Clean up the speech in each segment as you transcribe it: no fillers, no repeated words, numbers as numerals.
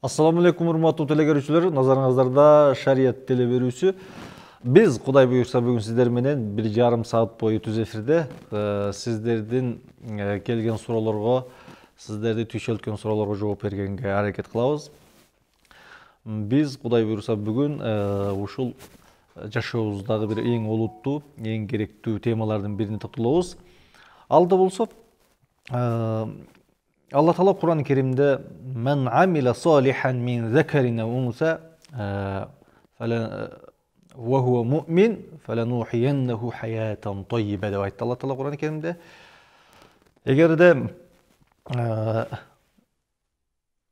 Assalamu alaikum урматтуу телекөрүүчүлөр, назарыңыздарда Шарият теле берүүсү. Биз Кудай буйрса бүгүн сиздер менен 1,5 саат бою түз эфирде сиздердин келген суроолорго, сиздерди түйшөлткөн суроолорго жооп бергенге аракет кылабыз. Биз Кудай буйрса бүгүн ушул жашообуздагы бир эң олуттуу, эң керектүү темалардын бирине токтолобуз. Алда болсо Алла Таала Кур'ан-ы Керимде "Мен амила салихан мин закарин ва унса ва хува муъмин фаланухияннаху хаятан таййиба" деп айтты Алла Таала Кур'ан-ы Керимде. Эгерде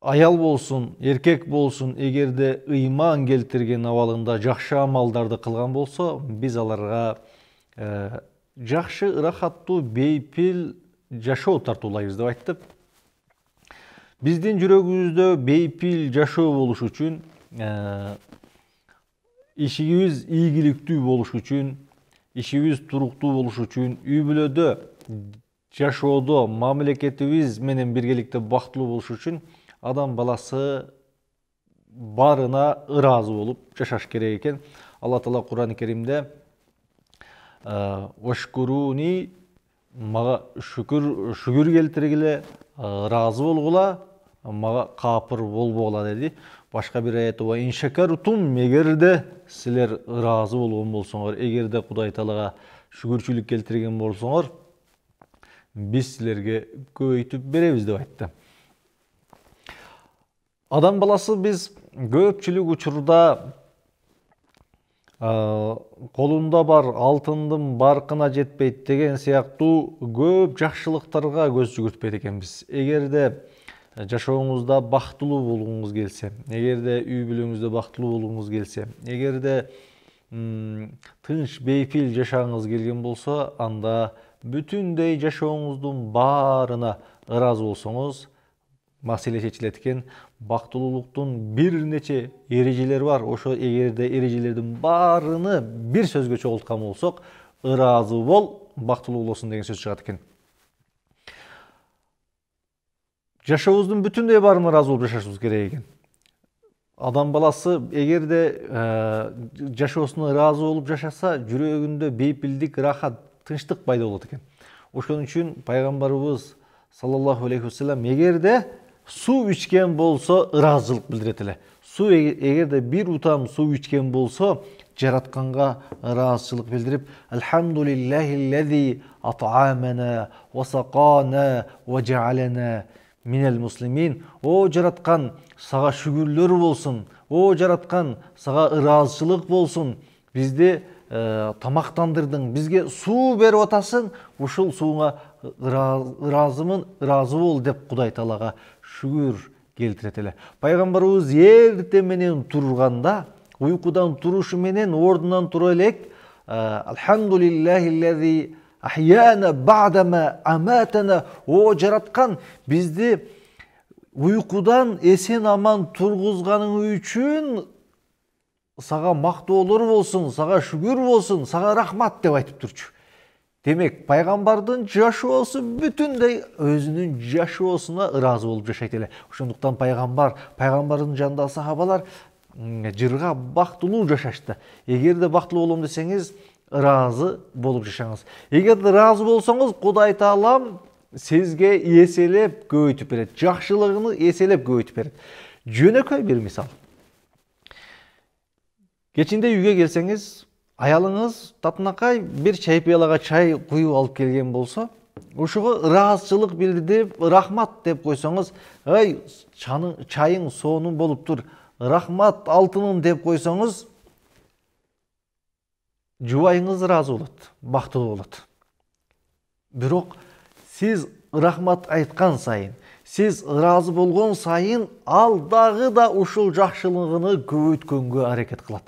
аял болсун, эркек болсун, эгерде ыйман келтирген абалында жакшы амалдарды кылган болсо, биз аларга жакшы, ырахаттуу, бейпил жашоо тартуулайбыз деп айтты. Биздин жүрөгүбүздө бейпил жашоо болуш үчүн, ишигибиз ийгиликтүү болуш үчүн, ишибиз туруктуу болуш үчүн, үй бүлөдө жашоодо мамлекетибиз менен биргеликте бактылуу болуш үчүн адам баласы баарына ыраазы болуп жашаш керек экен. Алла Таала Кур'ан-ы Керимде "Вашкуруни" мага шүгүр келтиргиле, ыраазы болгула, мага капыр болбогула деди. Башка бир аятта "Ва иншакартум" эгерде силер ыраазы болгон болсоңор, эгерде Кудай Таалага шүгүрчүлүк келтирген болсоңор, биз силерге көбөйтүп беребиз деп айтты. Адам баласы биз көпчүлүк учурда колунда бар алтындын баркына жетпейт деген сыяктуу көп жакшылыктарга көз жүгүртпейт экенбиз. Эгерде жашооңузда бактылуу болгуңуз келсе, эгерде үй бүлөңүздө бактылуу болгуңуз келсе, эгерде тынч бейпил жашагыңыз келген болсо, анда бүтүндөй жашооңуздун баарына ыраазы болсоңуз, маселе чечилет экен. Бактылуулуктун бир нече эрежелери бар. Ошо эгерде эрежелердин баарыны бир сөзгө чогулткан болсок, ыраазы бол, бактылуу болосуң деген сөз чыгат экен. Жашообуздун бүтүндөй баарына ыраазы болуп жашашыбыз керек экен. Адам баласы эгерде жашоосуна ыраазы болуп жашаса, жүрөгүндө бейпилдик, ырахат, тынчтык пайда болот экен. Ошон үчүн пайгамбарыбыз саллаллаху алейхи вассалам эгерде суу ичкен болсо ыраазычылык билдирет эле. Эгерде бир утам суу ичкен болсо, жаратканга ыраазычылык билдирип, "Алхамдулиллахиллази ат'амана ва сакана ва жаалана минал муслимин". О жараткан, сага шүгүрлөр болсун. О жараткан, сага ыраазычылык болсун. Бизди тамактандырдың, бизге суу берип атасың, ушул сууңа ыраазымын, ыраазы бол деп Кудай Таалага шүгүр келтирет эле. Пайгамбарыбыз эрте менен турганда, уйкудан турушу менен ордунан тура элек, "Алхамдулиллахиллази ахяна ба'дама аматана", о жараткан, бизди уйкудан эсен аман тургузганың үчүн сага мактоолор болсун, сага шүгүр болсун, сага рахмат деп айтып турчу. Демек, пайгамбардын жашоосу бүтүндөй өзүнүн жашоосуна ыраазы болуп жашайт эле. Ошондуктан пайгамбардын жанындагы сахабалар жырга бактылуу жашашты. Эгерде бактылуу болом десеңиз, ыраазы болуп жашаңыз. Эгерде ыраазы болсоңуз, Кудай Таалам сизге эселеп көбөйтүп берет. Жакшылыгын эселеп көбөйтүп берет. Жөнөкөй бир мисал. Кечинде үйгө келсеңиз, аялыңыз татынакай бир чай пыялага чай куюп алып келген болсо, ошого ыраазычылык билдирип, рахмат деп койсоңуз, "Ой, чайың сонун болуптур, рахмат алтыным" деп койсоңуз, жубайыңыз ыраазы болот, бактылуу болот. Бирок сиз рахмат айткан сайын, сиз ыраазы болгон сайын, ал дагы да ушул жакшылыгын көбөйткөнгө аракет кылат.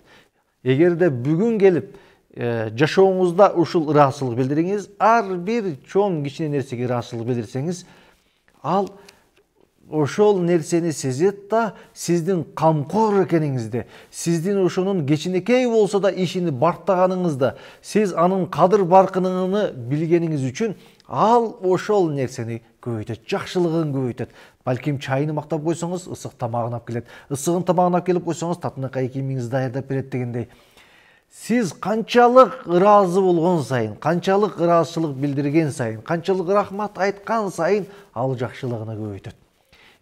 Эгерде бүгүн келип жашооңузда ушул ыраазычылык билдириңиз, ар бир чоң кичине нерсеге ыраазычылык билдирсеңиз, ал ошол нерсени сезет да, сиздин камкор экениңизди, сиздин ошонун кичинекей болсо да ишини бартаганыңызды, сиз анын кадыр баркынын билгениңиз үчүн ал ошол нерсени көбөйтөт, жакшылыгын көбөйтөт. Балким чайын мактап койсоңуз, ысык тамагын алып келет. Ысыгын тамагын алып келип койсоңуз, татынакай кийимиңизди даярдап берет дегендей. Сиз канчалык ыраазы болгон сайын, канчалык ыраазычылык билдирген сайын, канчалык рахмат айткан сайын ал жакшылыгын көбөйтөт.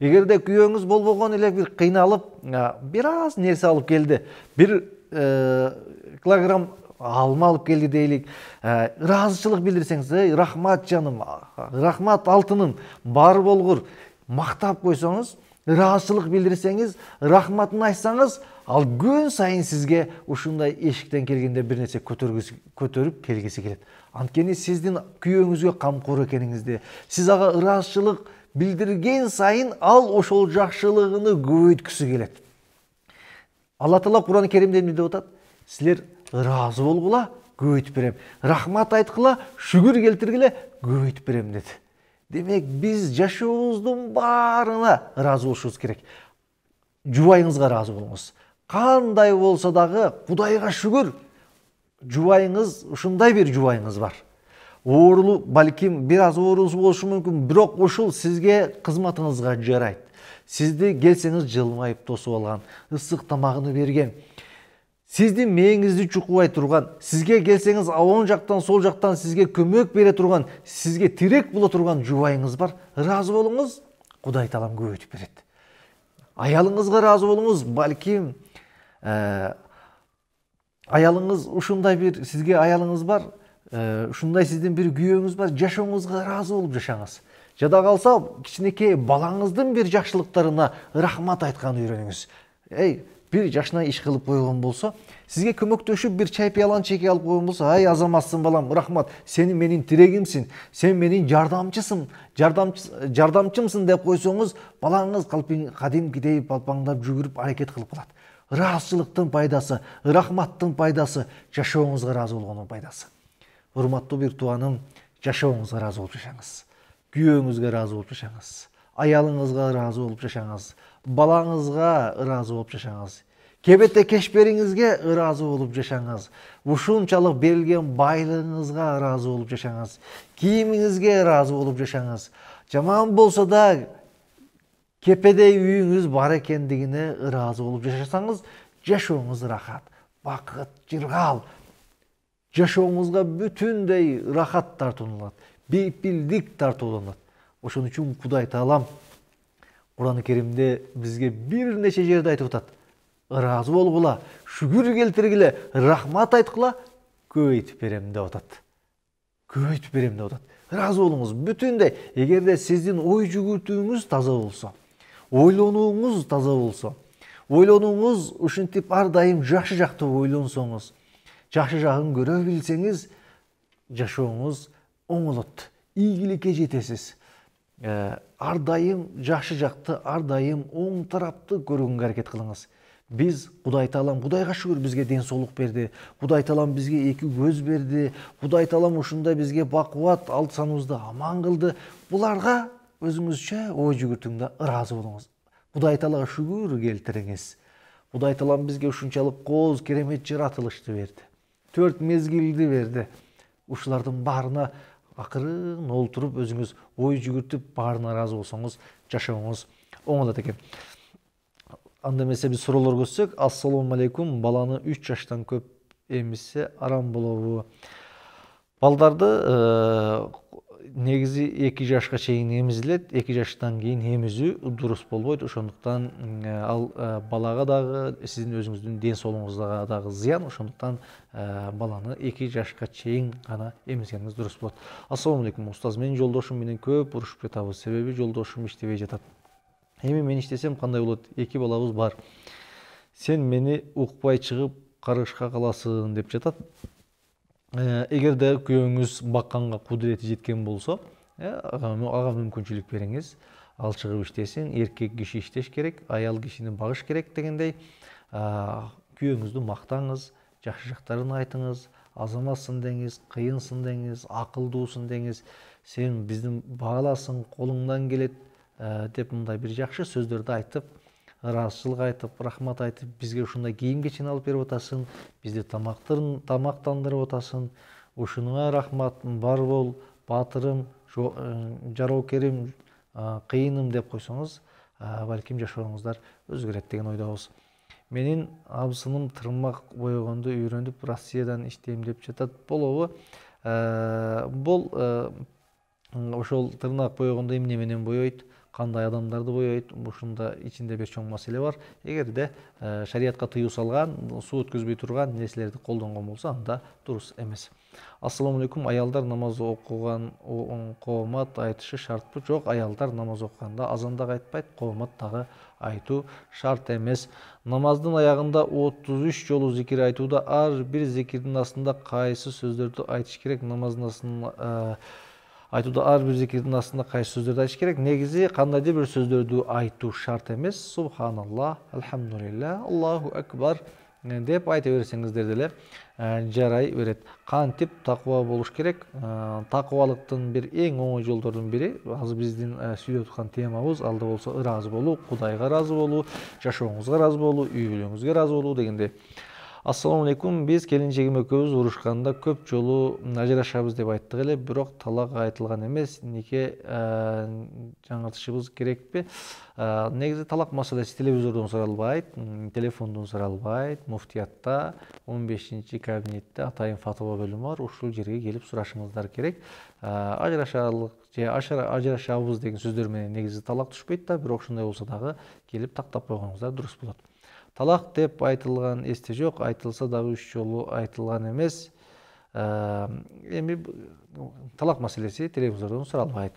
Эгерде күйөөңүз болбогон эле бир кыйналып, бир аз нерсе алып келди, бир килограмм алма алып келди дейлик, ыраазычылык билдирсеңиз, рахмат жаным, рахмат алтыным, бар болгур, мактап койсоңуз, ыраазычылык билдирсеңиз, рахматын айтсаңыз, ал күн сайын сизге ушундай эшиктен келгенде бир нерсе көтөрүп келгиси келет. Анткени сиздин күйөөңүзгө камкор экениңизди, сиз ага ыраазычылык билдирген сайын ал ошол жакшылыгыны көбөйткүсү келет. Алла Таала Кур'ан-ы Керимде эмне деп атат? Силер ыраазы болгула, көбөйтүп берем. Рахмат айткыла, шүгүр келтиргиле, көбөйтүп берем деди. Демек, биз жашообуздун баарына ыраазы болушубуз керек. Жубайыңызга ыраазы болуңуз. Кандай болсо дагы Кудайга шүгүр, жубайыңыз, ушундай бир жубайыңыз бар. Оорулуу, балким бир аз оорусу болушу мүмкүн, бирок ушул сизге кызматыңызга жарайт. Сизди келсеңиз жылмайып тосуп алган, ысык тамагын берген, сиздин мээңизди чукубай турган, сизге келсеңиз оң жактан, сол жактан сизге көмөк бере турган, сизге тирек боло турган жубайыңыз бар. Ыраазы болуңуз, Кудай Таалам көбөйтүп берет. Аялыңызга ыраазы болуңуз, балким аялыңыз ушундай бир, сизге аялыңыз бар, ушундай сиздин бир күйөөңүз бар, жашооңузга ыраазы болуп жашаңыз. Жада калса, кичинекей балаңыздын бир жакшылыктарына рахмат айтканды үйрөнүңүз. Бир жашына иш кылып койгон болсо, сизге көмөктөшүп бир чай пыяланы чеке алып койгон болсо, азаматсың балам, рахмат, сен менин тирегимсиң, сен менин жардамчымсың деп койсоңуз, балаңыз кадимкидей балпаңдап жүгүрүп аракет кылып калат. Ыраазычылыктын пайдасы, рахматтын пайдасы, жашооңузга ыраазы болгондун пайдасы. Урматтуу бир тууганым, жашооңузга ыраазы болуп жашаңыз. Күйөөңүзгө ыраазы болуп жашаңыз. Аялыңызга ыраазы болуп жашаңыз. Балаңызга ыраазы болуп жашаңыз. Кебете кешпериңизге ыраазы болуп жашаңыз. Ушунчалык берилген байлыгыңызга ыраазы болуп жашаңыз. Кийимиңизге ыраазы болуп жашаңыз. Жаман болсо да кепедей үйүңүз бар экендигине ыраазы болуп жашасаңыз, жашооңуз рахат, бакыт, жыргал. Жашооңузга бүтүндөй рахат тартууланат, бейпилдик тартууланат. Ошон үчүн Кудай Таалам Кур'ан-ы Керимде бизге бир нече жерде айтып атат. Ыраазы болгула, шүгүр келтиргиле, рахмат айткыла, көбөйтүп берем деп атат. Көбөйтүп берем деп атат. Ыраазы болуңуз бүтүндөй. Эгерде сиздин ой жүгүртүүңүз таза болсо, ойлонууңуз таза болсо, ойлонууңуз ушинтип ар дайым жакшы жактуу ойлонсоңуз, жакшы жагын көрө билсеңиз, жашооңуз оңолот, ийгиликке жетесиз. Ар дайым жакшы жакты, ар дайым оң тарапты көргөнгө аракет кылыңыз. Биз Кудай Таалам, Кудайга шүгүр, бизге ден соолук берди. Кудай Таалам бизге эки көз берди. Кудай Таалам ушундай бизге бакубат, алты саныбызды аман кылды. Буларга өзүңүзчө ой жүгүртүүңдө ыраазы болуңуз. Кудай Таалага шүгүр келтириңиз. Кудай Таалам бизге ушунчалык кооз керемет жаратылышты берди. 4 мезгилди берди. Ушулардын баарына акырын олтуруп өзүңүз ой жүгүртүп баарына ыраазы болсоңуз, жашооңуз оңолот экен. Анда эмесе биз суроолор көрсөк, ассалому алейкум, баланы 3 жаштан көп эмизсе арам болобу? Балдарды негизи 2 жашка чейин эмизилет, 2 жаштан кийин эмизүү дурус болбойт. Ошондуктан ал балага дагы, сиздин өзүңүздүн ден соолугуңузга дагы зыян. Ошондуктан баланы 2 жашка чейин гана эмизгениңиз дурус болот. Ассалому алейкум, устаз, менин жолдошум менен көп урушуп жатабыз. Себеби жолдошум иштебей жатат. Эми мен иштесем кандай болот? 2 балабыз бар. Сен мени укпай чыгып карышка каласың деп жатат. Эгерде күйөөңүз бакканга кудурети жеткен болсо, ага мүмкүнчүлүк бериңиз. Ал чыгып иштесин, эркек киши иштеш керек, аял кишини багыш керек дегендей, күйөөңүздү мактаңыз, жакшы жактарын айтыңыз, азаматсың деңиз, кыйынсың деңиз, акылдуусун деңиз, сен биздин бааласың, колуңдан келет деп мындай бир жакшы сөздөрдү айтып, ыраазычылык айтып, рахмат айтып, бизге ушундай кийим кечен алып берип атасың, бизди тамактандырып атасың, ушунуңа рахмат, бар бол, баатырым, жароокерим, кыйыным деп койсоңуз, балким жашооңуздар өзгөрөт деген ойдобуз. Менин абысыным тырмак боегонду үйрөнүп Россиядан иштейм деп жатат. Болобу? Бул ошол тырнак боегондо эмне менен боейт, кандай адамдарды боейт, ушунда ичинде бир чоң маселе бар. Эгерде шариятка тыюу салган, суу өткөзбөй турган нерселерди колдонгон болсо, анда дурус эмес. Ассаламу алейкум. Аялдар намаз окуган коомат айтышы шартпы? Жок, аялдар намаз окуганда азан дагы айтпайт, коомат дагы айтуу шарт эмес. Намаздын аягында 33 жолу зикир айтууда ар бир зикирдин астында кайсы сөздөрдү айтыш керек? Намаздын астында айтууда ар бир зикирдин астында кайсы сөздөрдү айтыш керек? Негизи кандайдыр бир сөздөрдү айтуу шарт эмес. Субханалла, альхамдулилля, Аллаху акбар деп айта берсеңиздер деле жарай берет. Кантип такыба болуш керек? Такыбалыктын бир эң оңой жолдордун бири, азыр биздин сүйлөп аткан темабыз алда болсо ыраазы болуу, Кудайга ыраазы болуу, жашооңузга ыраазы болуу, үй бүлөңүзгө ыраазы болуу дегендей. Ассаламу алейкум. Биз келинчегим экөөбүз урушканда көп жолу ажырашабыз деп айттык эле, бирок талак айтылган эмес. Нике жаңыртышыбыз керекпи? Негизи талак маселеси телевизордон суралбайт, телефондон суралбайт. Муфтиятта 15-кабинетте атайын фатва бөлүмү бар. Ушул жерге келип сурашыңыздар керек. Ажырашалык же ажырашабыз деген сөздөр менен негизи талак түшпөйт да, бирок ушундай болсо дагы келип тактап койгоңуздар дурус болот. Талак деп айтылган эсте жок, айтылса дагы 3 жолу айтылган эмес. Эми талак маселеси телевизордон суралбайт.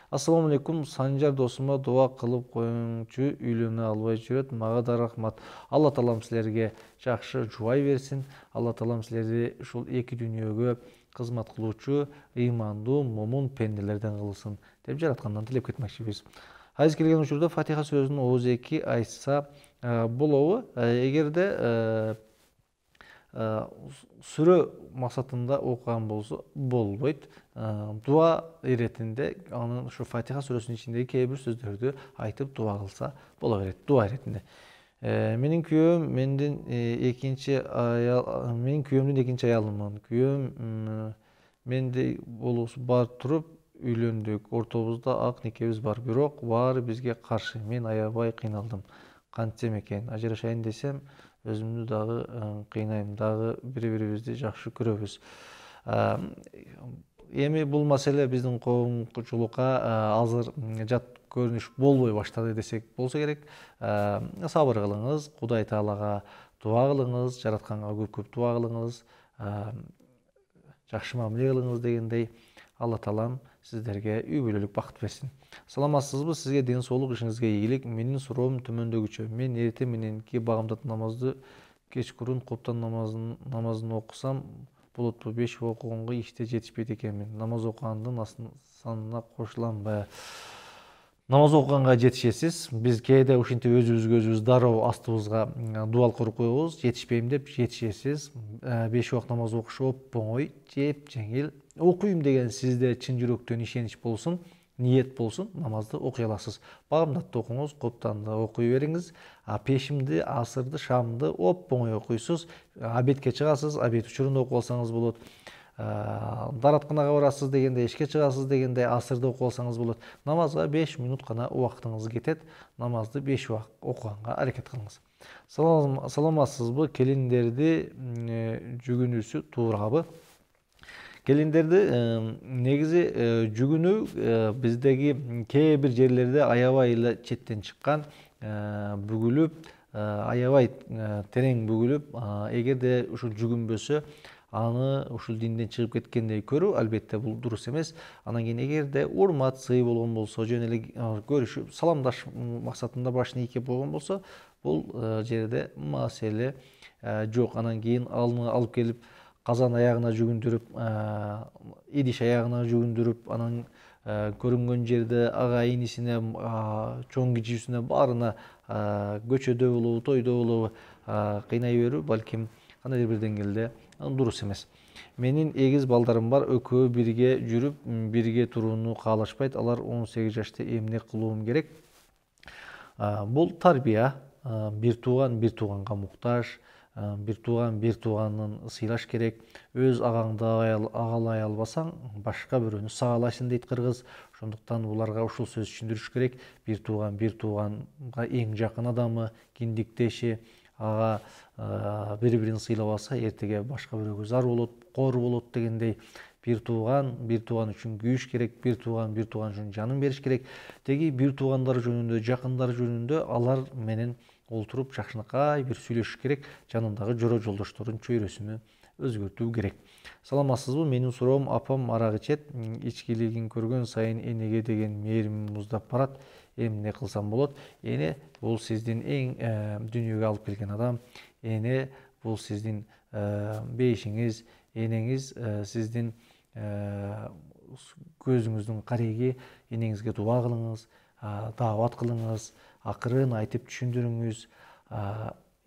Ассаламу алейкум. Санжар досума дуа кылып коюңчу, үйлөнө албай жүрөт. Мага да рахмат. Алла таалам силерге жакшы жубай берсин. Алла таалам силерди ушул эки дүйнөгө кызмат кылуучу ыймандуу, момун пенделерден кылсын деп жараткандан тилеп кетмекчибиз. Айыз келген учурда Фатиха сүрөсүнүн ооз 2 айтса болобу? Эгерде сүрө максатында окуган болсо болбойт. Дуа иретинде анын ушу Фатиха сүрөсүнүн ичиндеги кээ бир сөздөрдү айтып дуа кылса боло берет, дуа иретинде. Менин күйөөм менден экинчи күйөөмдүн экинчи аялымын. Күйөөм менде болуусу бар туруп үйлөндүк. Ортобузда ак никебиз бар, бирок баары бизге каршы. Мен аябай кыйналдым. Кантсем экен? Ажырашайын десем, өзүмдү дагы кыйнайм, дагы бири-бирибизди жакшы көрөбүз. Эми бул маселе биздин коомчулукка азыр жат көрүнүш болбой баштады десек болсо керек. Сабыр кылыңыз, Кудай Таалага дуа кылыңыз, жаратканга көп-көп дуа кылыңыз, жакшы мамиле кылыңыз дегендей. Алла таалам сиздерге үй бүлөлүк бакыт берсин. Саламатсызбы? Сизге ден соолук, ишиңизге ийгилик. Менин суроом төмөндөгүчө. Мен эртең мененки багамдат намазды кечкурун коптон намазын окусам болотпу? 5 окуганга иште жетишпейт экенмин. Намаз окугандын санына кошуламбы? Намаз окуганга жетишесиз. Биз кээде ушинтип өзүбүзгө дароо астыбызга дуал куруп коебуз. Жетишпейм деп жетишесиз. 5 убак намаз окуш оп-оңой, жеп-жеңил. Окуйм деген сизде чын жүрөктөн ишенич болсун, ниет болсун, намазды окуй аласыз. Багамдатты окуңуз, коптанды окуй бериңиз. Пешимди, асырды, шамды оп-оңой окуйсуз. Обедке чыгасыз, обед учурунда окуп алсаңыз болот. Даратканага барасыз дегенде, ишке чыгасыз дегенде асырды окуп алсаңыз болот. Намазга 5 минут гана убактыңыз кетет. Намазды 5 убак окуганга аракет кылыңыз. Саламатсызбы? Келиндерди жүгүнүүсү туурабы? Келиндерди негизи жүгүнүү биздеги кээ бир жерлерде аябай эле четтен чыккан, бүгүлүп, аябай терең бүгүлүп, эгерде ушул жүгүнбөсө, аны ушул динден чыгып кеткендей көрүү, албетте бул дурус эмес. Анан кийин эгерде урмат, сый болгон болсо, жөн эле көрүшүп, саламдаш максатында башын ийкеп койгон болсо, бул жерде маселе жок. Анан кийин алып келип казан аягына жүгүндүрүп, идиш аягына жүгүндүрүп, анан көрүнгөн жерде ага инисине, чоң кичүүсүнө баарына көчөдө болобу, тойдо болобу кыйнай берүү балким кандайдыр бир деңгээлде дурус эмес. Менин эгиз балдарым бар, экөө бирге жүрүп, бирге турууну каалашпайт. Алар 18 жашта, эмне кылуум керек? Бул тарбия, бир тууганга муктаж, бир тууганын сыйлаш керек. Өз агаңды агалай албасаң, башка бирөөнү сагалайсың дейт кыргыз. Ошондуктан буларга ушул сөз түшүндүрүш керек. Бир тууганга эң жакын адамы, киндиктеши, ага бири-бирин сыйлабаса, эртеге башка бирөөгө зар болот, кор болот дегендей. Бир тууган үчүн күйүш керек, бир тууган үчүн жанын бериш керек. Теги бир туугандар жөнүндө, жакындар жөнүндө алар менен олтуруп жакшынакай бир сүйлөшүш керек. Жанындагы жора жолдоштордун чөйрөсүнө өзгөртүү керек. Саламатсызбы? Менин суроом, апам арак ичет, ичкилигин көргөн сайын энеге деген мээримим муздап барат. Эмне кылсам болот? Эне бул сиздин эң дүйнөгө алып келген адам. Эне бул сиздин бейишиңиз, энеңиз сиздин көзүңүздүн кареги. Энеңизге дуба кылыңыз, даават кылыңыз, акырын айтып түшүндүрүңүз.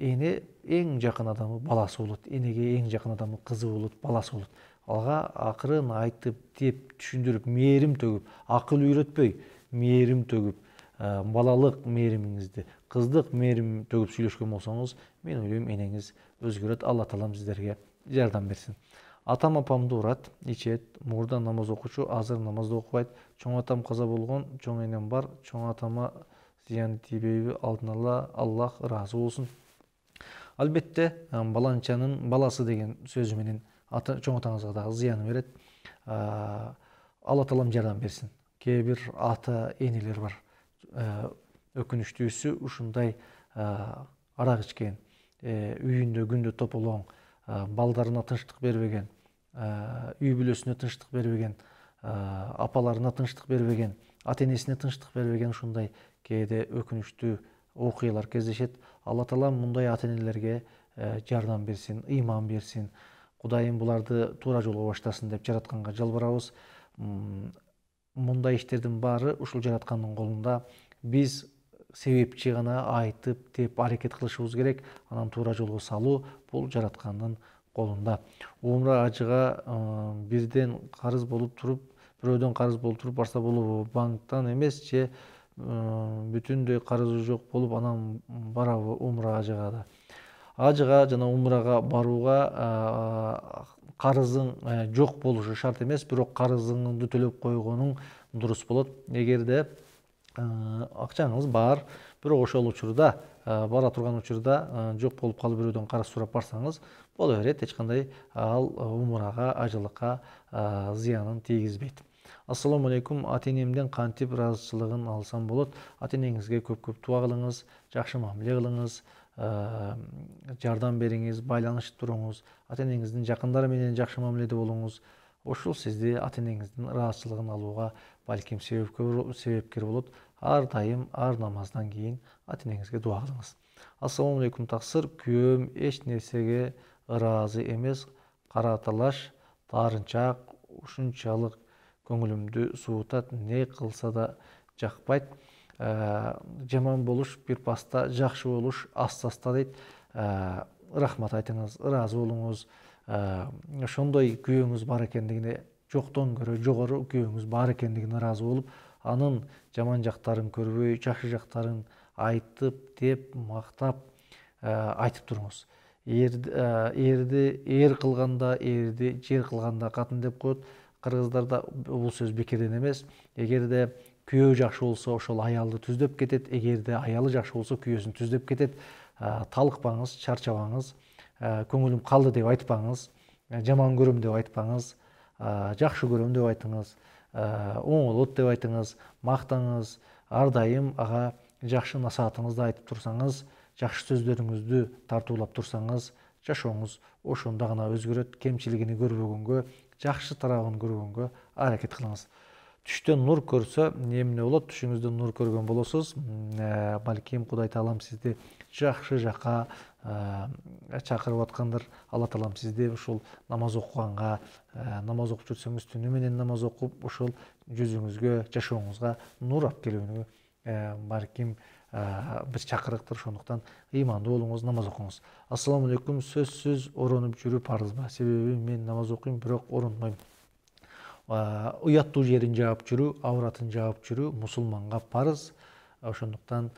Эне эң жакын адамы баласы болот. Энеге эң жакын адамы кызы болот, баласы болот. Ага акырын айтып, деп түшүндүрүп, мээрим төгүп, акыл үйрөтпөй, мээрим төгүп, балалык мээримиңизди, кыздык мээрим төгүп сүйлөшкөн болсоңуз, мен ойлойм энеңиз өзгөрөт. Алла таалам сиздерге жардам берсин. Атам апамды урат, ичет, мурда намаз окучу, азыр намазды окубайт. Чоң атам каза болгон, чоң энем бар. Чоң атама зыяны тийбейби? Алдын ала Аллах ыраазы болсун. Албетте, баланчанын баласы деген сөзү менен чоң атаңызга дагы зыяны берет. Алла таалам жардам берсин. Кээ бир ата энелер бар. Өкүнүчтүүсү ушундай арак ичкен, үйүндө күндө тополоң, балдарына тынчтык бербеген, үй бүлөсүнө тынчтык бербеген, апаларына тынчтык бербеген, ата энесине тынчтык бербеген ушундай кээде өкүнүчтүү окуялар кездешет. Алла таалам мындай ата энелерге жардам берсин, ыйман берсин. Кудайым буларды туура жолго баштасын деп жаратканга жалбарабыз. Мындай иштердин баары ушул жараткандын колунда. Биз себепчи гана айтып, деп аракет кылышыбыз керек. Анан туура жолго салуу бул жараткандын колунда. Умра ажыга бирден карыз болуп туруп, бирөөдөн карыз болуп туруп барса болобу? Банктан эмес, же бүтүндөй карызы жок болуп анан барабы умра ажыга да? Ажыга жана умрага барууга карызың жок болушу шарт эмес, бирок карызыңды төлөп койгонуң дурус болот. Эгерде акчаңыз бар, бирок ошол учурда, бара турган учурда жок болуп калып бирөөдөн карыз сурап барсаңыз боло берет. Эч кандай ал умрага, ажылыкка зыянын тийгизбейт. Ассаламу алейкум. Ата энемден кантип ыраазычылыгын алсам болот? Ата энеңизге көп дуа кылыңыз, жакшы мамиле кылыңыз, жардам бериңиз, байланышып туруңуз. Ата энеңиздин жакындары менен жакшы мамиледе болуңуз. Ушул сизди ата энеңиздин ыраазычылыгын алууга балким себепкер болот. Ар дайым, ар намаздан кийин ата энеңизге дуа кылыңыз. Ассаламу алейкум таксыр. Күйөөм эч нерсеге ыраазы эмес, кара талаш, таарынчаак, ушунчалык көңүлүмдү суутат, не кылса да жакпайт. Жаман болуш бир паста, жакшы болуш аста дейт. Рахмат айтыңыз, ыраазы болуңуз. Ошондой күйөөңүз бар экендигине, жоктон көрө жогору күйөөңүз бар экендигине ыраазы болуп, анын жаман жактарын көрбөй, жакшы жактарын айтып, деп, мактап айтып туруңуз. Эр кылганда эрди, жер кылганда катын деп коет. Кыргыздарда бул сөз бекерден эмес. Эгерде күйөө жакшы болсо, ошол аялды түздөп кетет. Эгерде аялы жакшы болсо, күйөөсүн түздөп кетет. Талыкпаңыз, чарчабаңыз, көңүлүм калды деп айтпаңыз, жаман көрөм деп айтпаңыз, жакшы көрөм деп айтыңыз, оңолот деп айтыңыз, мактаңыз. Ар дайым ага жакшы насаатыңызды айтып турсаңыз, жакшы сөздөрүңүздү тартуулап турсаңыз, жашооңуз ошондо гана өзгөрөт. Кемчилигини көрбөгөнгө, жакшы тарабын көргөнгө аракет кылыңыз. Түштөн нур көрсө эмне болот? Түшүңүздө нур көргөн болосуз. Балким Кудай таалам сизди жакшы жакка чакырып аткандыр. Алла таалам сизди ушул намаз окуганга, намаз окуп жүрсөңүз түнү менен намаз окуп, ушул жүзүңүзгө, жашооңузга нур алып келүүнү балким бир чакырыктыр. Ошондуктан ыймандуу болуңуз, намаз окуңуз. Ассаламу алейкум. Сөзсүз оронуп жүрүү парызбы? Себеби мен намаз окуйм, бирок оронбойм. Уяттуу жерин жаап жүрүү, авратын жаап жүрүү мусулманга парыз. Ошондуктан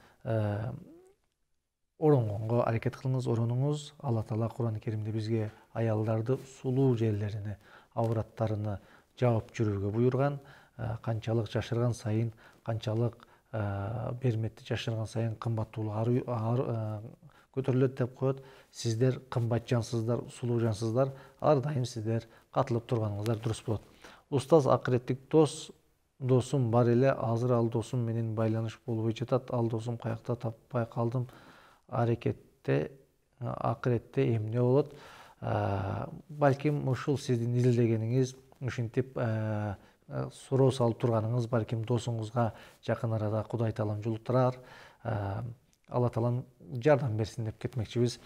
оронгонго аракет кылыңыз, оронуңуз. Алла Таала Кур'ан-ы Керимде бизге аялдарды сулуу жерлерине, авраттарына жаап жүрүүгө буйрган. Канчалык жашырган сайын, канчалык берметти жашырган сайын кымбаттуулук көтөрүлөт деп коет. Сиздер кымбат жансыздар, сулуу жансыздар, ар дайым сиздер катылып турганыңыздар дурус болот. Устаз акыреттик досум бар эле, азыр ал досум менен байланыш болбой жатат. Ал досум каякта таппай калдым. Акыретте эмне болот? Балким ушул сиздин изилдегениңиз, ушинтип суроо салып турганыңыз балким досуңузга жакын арада Кудай Таалам жолуктурар. Алла Таалам жардам берсин деп кетмекчибиз.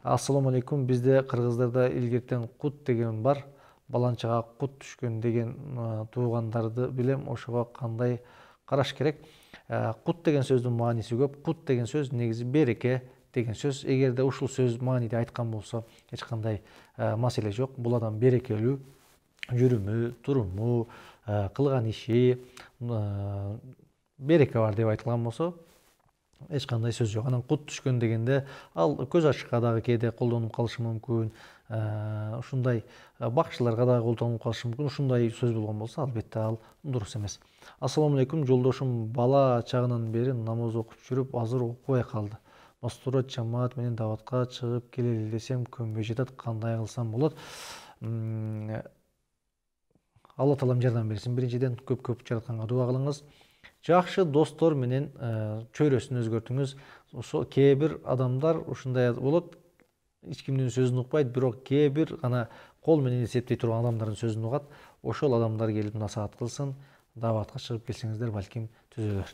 Ассаламу алейкум. Бизде кыргыздарда илгертен кут деген бар. Баланчага кут түшкөн деген туугандарды билем. Ошого кандай караш керек? Кут деген сөздүн мааниси көп. Кут деген сөз негизи береке деген сөз. Эгерде ушул сөз мааниде айткан болсо, эч кандай маселе жок. Бул адам берекелүү, жүрүмү, туруму, кылган иши береке бар деп айтылган болсо, эч кандай сөз жок. Анан кут түшкөн дегенде ал көз ачыкка дагы кээде колдонуп калышы мүмкүн. Ушундай бакчыларга дагы колдонуп калышы мүмкүн. Ушундай сөз болгон болсо, албетте ал дурус эмес. Ассаламу алейкум. Жолдошум бала чагынан бери намаз окуп жүрүп, азыр окубай калды. Мастура жамаат менен даватка чыгып келели десем көнбөй жатат. Кандай кылсам болот? Алла Таалам жардам берсин. Биринчиден көп жаратканга дуа кылыңыз. Жакшы достор менен чөйрөсүн өзгөртүңүз. Ошо кээ бир адамдар ушундай болот. Эч кимдин сөзүн укпайт, бирок кээ бир гана кол менен эсептей турган адамдардын сөзүн угат. Ошол адамдар келип насаат кылсын, даватка чыгып келсеңиздер балким түзөлөр.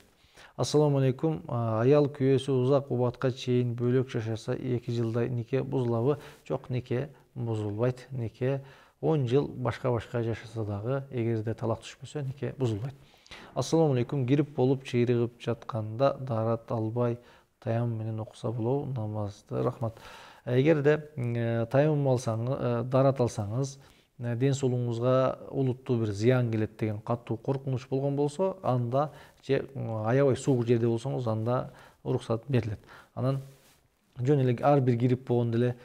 Ассаламу алейкум. Аял күйөөсү узак убакытка чейин бөлөк жашаса 2 жылда нике бузулабы? Жок, нике бузулбайт. Нике 10 жыл башка жашаса дагы, эгерде талак түшпөсө, нике бузулбайт. Ассаламу алейкум. Гирип болуп чыйрыгып жатканда дарат албай таям менен окуса болобу намазды? Рахмат. Эгерде таям алсаңыз, дарат алсаңыз, ден соолугуңузга олуттуу бир зыян келет деген катуу коркунуч болгон болсо, анда же аябай суук жерде болсоңуз, анда уруксат берилет. Анан жөн эле ар бир кирип болгондо эле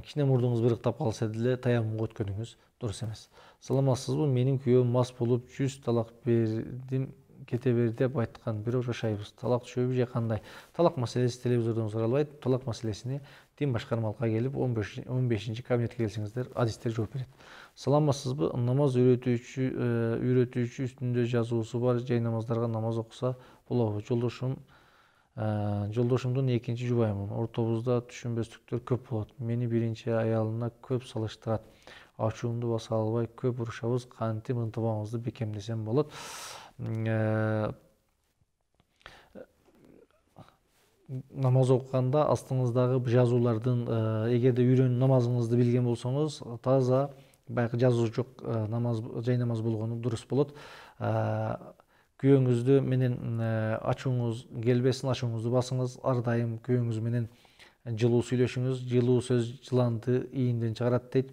кичине мурдуңуз бырыктап калса деле таяммумга өткөнүңүз дурус эмес. Саламатсызбы? Менин күйөөм мас болуп 100 талак бердим, кете бер деп айткан, бирок жашайбыз. Талак түшөбү же кандай? Талак маселеси телевизордон суралбайт. Талак маселесини дин башкармалыкка келип 15 кабинетке келсеңиздер, адистер жооп берет. Саламатсызбы? Намаз үйрөтүүчү үстүндө жазуусу бар жай намаздарга намаз окуса болобу? Жолдошумдун экинчи жубайымын. Ортобузда түшүнбөстүктөр көп болот. Мени биринчи аялына көп салыштырат. Ачуумду баса албай көп урушабыз. Кантип ынтымагыбызды бекемдесем болот? Намаз окуганда астыңыздагы жазуулардын, эгерде намазыңызды билген болсоңуз, таза баягы жазуу жок жай намаз болгону дурус болот. Күйөөңүздү менен ачууңуз келбесин, ачууңузду басыңыз. Ар дайым күйөөңүз менен жылуу сүйлөшүңүз. Жылуу сөз жыланды ийинден чыгарат дейт.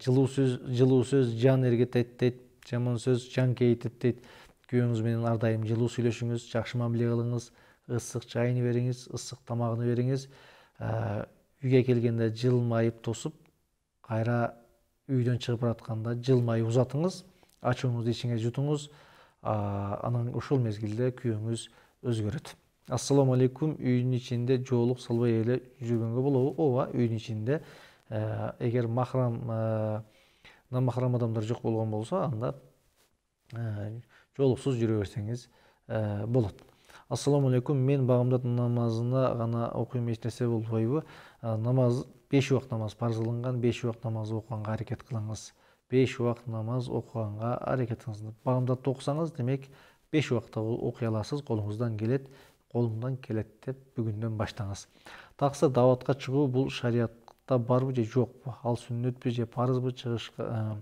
Жылуу сөз жан эргетет дейт. Жаман сөз жан кейитет дейт. Күйөөңүз менен ар дайым жылуу сүйлөшүңүз, жакшы мамиле кылыңыз, ысык чайын бериңиз, ысык тамагын бериңиз. Үйгө келгенде жылмайып тосуп, кайра үйдөн чыгып баратканда жылмайып узатыңыз, ачууңузду ичиңе жутуңуз. Анан ушул мезгилде күйөөңүз өзгөрөт. Ассаламу алейкум. Үйдүн ичинде жоолук салбай эле жүргөнгө болобу? Ооба, үйдүн ичинде эгер намахрам адамдар жок болгон болсо, анда жоолуксуз жүрө берсеңиз болот. Ассаламу алейкум. Мен багымдат намазына гана окуйм, эч нерсе болбойбу? Намаз 5 убакыт намаз парз кылынган, 5 убакыт намаз окуганга аракет кылыңыз. 5 убакыт намаз окуганга аракет кылыңыз. Багымдатты окусаңыз, демек 5 убакытта окуй аласыз, колуңуздан келет деп бүгүндөн баштаңыз. Таксы даватка чыгуу бул шариятта барбы же жокпу? Ал сүннөтпү же парызбы? Чыгышка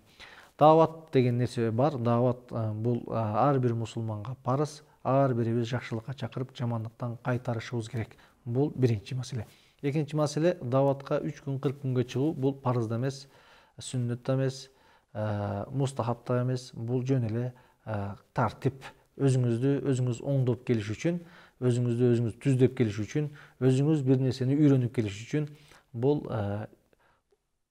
дават деген нерсе бар. Дават бул ар бир мусулманга парыз. Ар бирибиз жакшылыкка чакырып, жамандыктан кайтарышыбыз керек. Бул биринчи маселе. Экинчи маселе, даватка 3 күн 40 күнгө чыгуу бул парыз да эмес, сүннөт да эмес, мустахаб да эмес. Бул жөн эле тартип өзүңүз оңдоп келиш үчүн, өзүңүз түздөп келиш үчүн, өзүңүз бир нерсени үйрөнүп келиш үчүн бул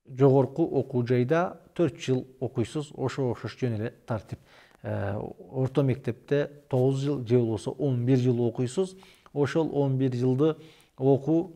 жогорку окуу жайда 4 жыл окуйсуз, ошого окшош жөн эле тартип. Орто мектепте 9 жыл же болбосо 11 жыл окуйсуз. Ошол 11 жылды окуу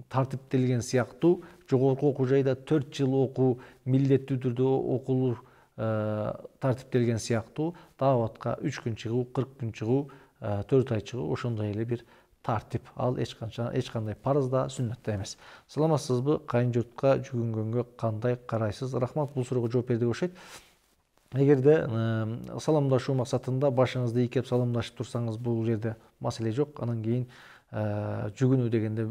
тартиптелген сыяктуу, жогорку окуу жайда 4 жыл окуу милдеттүү түрдө окулуу тартиптелген сыяктуу, дааватка 3 күн чыгуу, 40 күн чыгуу, 4 ай чыгуу ошондой эле бир тартип. Ал эч кандай парыз да, сүннөт да эмес. Саламатсызбы? Кайын журтка жүгүнгөнгө кандай карайсыз? Рахмат, бул суроого жооп бердик окшойт. Эгерде саламдашуу максатында башыңызды ийкеп саламдашып турсаңыз, бул жерде маселе жок. Анан кийин жүгүнүү дегенде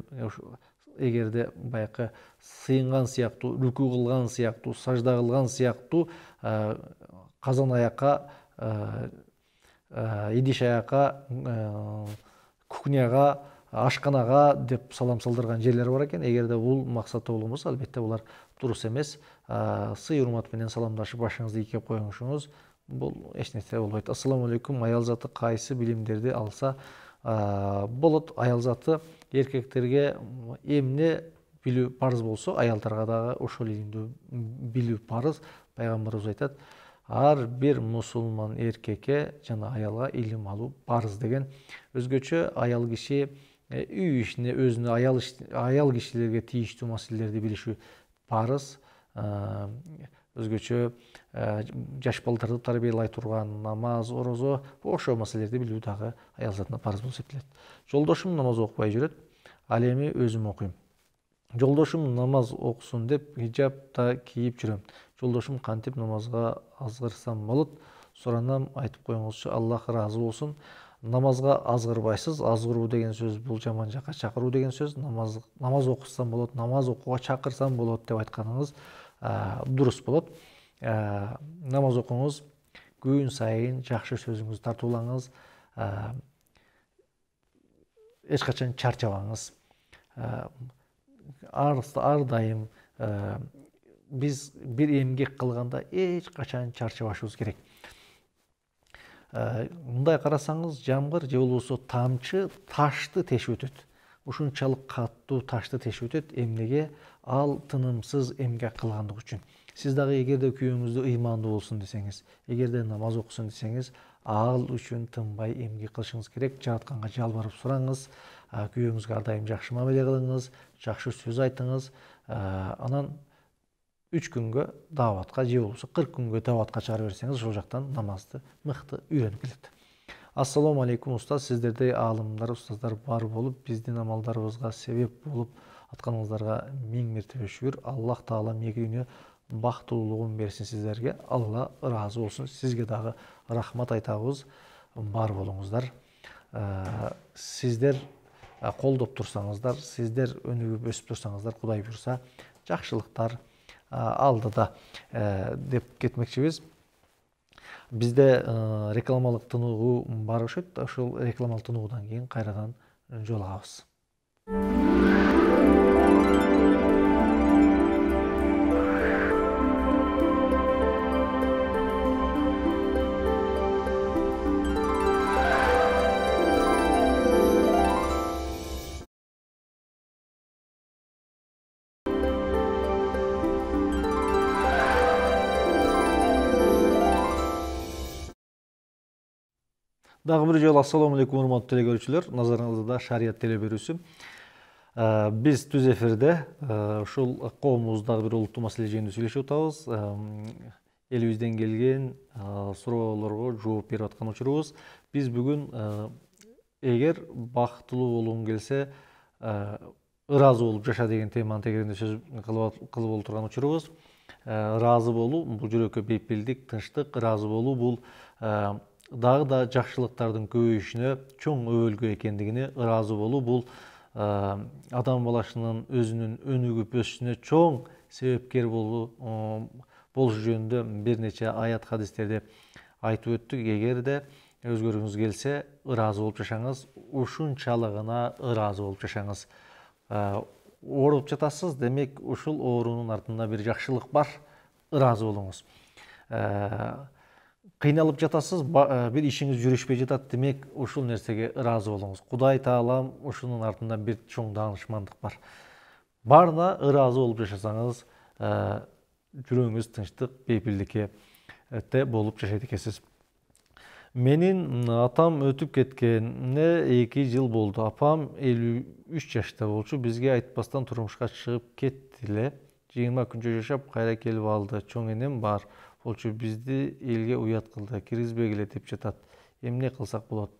эгерде баягы сыйынган сыяктуу, рүкүү кылган сыяктуу, сажда кылган сыяктуу казан аякка, идиш аякка, кухняга, ашканага деп салам салдырган жерлер бар экен. Эгерде бул максатта болгонбосо, албетте булар дурус эмес. Сый урмат менен саламдашып башыңызды ийкеп коюңуз, бул эч нерсе болбойт. Ассаламу алейкум. Аял заты кайсы билимдерди алса болот? Аял заты эркектерге эмне билүү парыз болсо, аялдарга дагы ошол илимди билүү парыз. Пайгамбарыбыз айтат: ар бир мусулман эркекке жана аялга илим алуу парыз деген. Өзгөчө аял киши үй ишине, өзүнө аял кишилерге тийиштүү маселелерди билиши парыз. Өзгөчө жаш балдарды тарбиялай турган намаз, орозо, ошол маселелерди билүү дагы аял затына парыз болуп эсептелет. Жолдошум намаз окубай жүрөт, ал эми өзүм окуйм. Жолдошум намаз окусун деп хижаб да кийип жүрөм. Жолдошум кантип намазга азгырсам болот? Суранам, айтып коюңузчу, Аллах ыраазы болсун. Намазга азгырбайсыз. Азгыруу деген сөз бул жаман жакка чакыруу деген сөз. Намаз окусам болот, намаз окууга чакырсам болот деп айтканыңыз дурус болот. Намаз окуңуз, күн сайын жакшы сөзүңүздү тартуулаңыз, эч качан чарчабаңыз. Ар дайым биз бир эмгек кылганда эч качан чарчабашыбыз керек. Мындай карасаңыз, жамгыр же болбосо тамчы ташты тешип өтөт. Ушунчалык каттуу ташты тешип өтөт. Эмнеге? Ал тынымсыз эмгек кылгандык үчүн. Сиз дагы эгерде күйөөңүздө ыймандуу болсун десеңиз, эгерде намаз окусун десеңиз, ал үчүн тынбай эмгек кылышыңыз керек. Жаратканга жалбарып сураңыз, күйөөңүзгө ар дайым жакшы мамиле кылыңыз, жакшы сөз айтыңыз. Анан 3 күнгө дааватка же болбосо 40 күнгө дааватка чыгарып берсеңиз, ошол жактан намазды мыкты үйрөнүп келет. Ассаламу алейкум устаз, сиздердей аалымдар, устаздар бар болуп, биздин амалдарыбызга себеп болуп атканыңыздарга миң мертебе шүгүр. Аллах таала мээги бактылуулугун берсин сиздерге. Алла ыраазы болсун. Сизге дагы рахмат айтабыз. Бар болуңуздар. Сиздер колдоп турсаңыздар, сиздер өнүгүп өсүп турсаңыздар, Кудай буйруса, жакшылыктар алдыда деп кетмекчибиз. Бизде рекламалык тыныгуу бар окшойт. Ошол рекламалык тыныгуудан кийин кайрадан жолугабыз. Дагы бир жолу ассаламу алейкум урматтуу теле көрүүчүлөр. Назарыңызда шарият теле берүүсү. Биз түз эфирде ушул коомубуздагы бир улуттуу маселе жөнүндө сүйлөшүп атабыз. Элибизден келген суроолорго жооп берип аткан учурубуз. Биз бүгүн эгер бактылуу болгуң келсе, ыраазы болуп жаша деген теманын тегерегинде сөз кылып олтурган учурубуз. Ыраазы болуу бул жүрөккө бейпилдик, тынчтык. Ыраазы болуу бул дагы да жакшылыктардын көбөйүшүнө чоң өбөлгө экендигине, ыраазы болуу бул адам баласынын өзүнүн өнүгүп өсүшүнө чоң себепкер болушу жөнүндө бир нече аят хадистерди айтып өттүк. Эгерде өзгөргүңүз келсе, ыраазы болуп жашаңыз, ушунчалыгына ыраазы болуп жашаңыз. Ооруп жатасыз, демек ушул оорунун артында бир жакшылык бар, ыраазы болуңуз. кыйналып жатасыз, бир ишиңиз жүрүшпөй жатат, демек ушул нерсеге ыраазы болуңуз. Кудай таалам ушунун артында бир чоң даанышмандык бар. Баарына ыраазы болуп жашасаңыз, жүрөгүңүз тынчтык, бейпилдикке болуп жашайт экенсиз. Менин атам өтүп кеткенине 2 жыл болду. Апам 53 жашта болчу. Бизге айтпастан турмушка чыгып кетти эле. 20 күнчө жашап кайра келип алды. Чоң энем бар болчу. Бизди элге уят кылды. Киргизбегиле деп жатат. Эмне кылсак болот?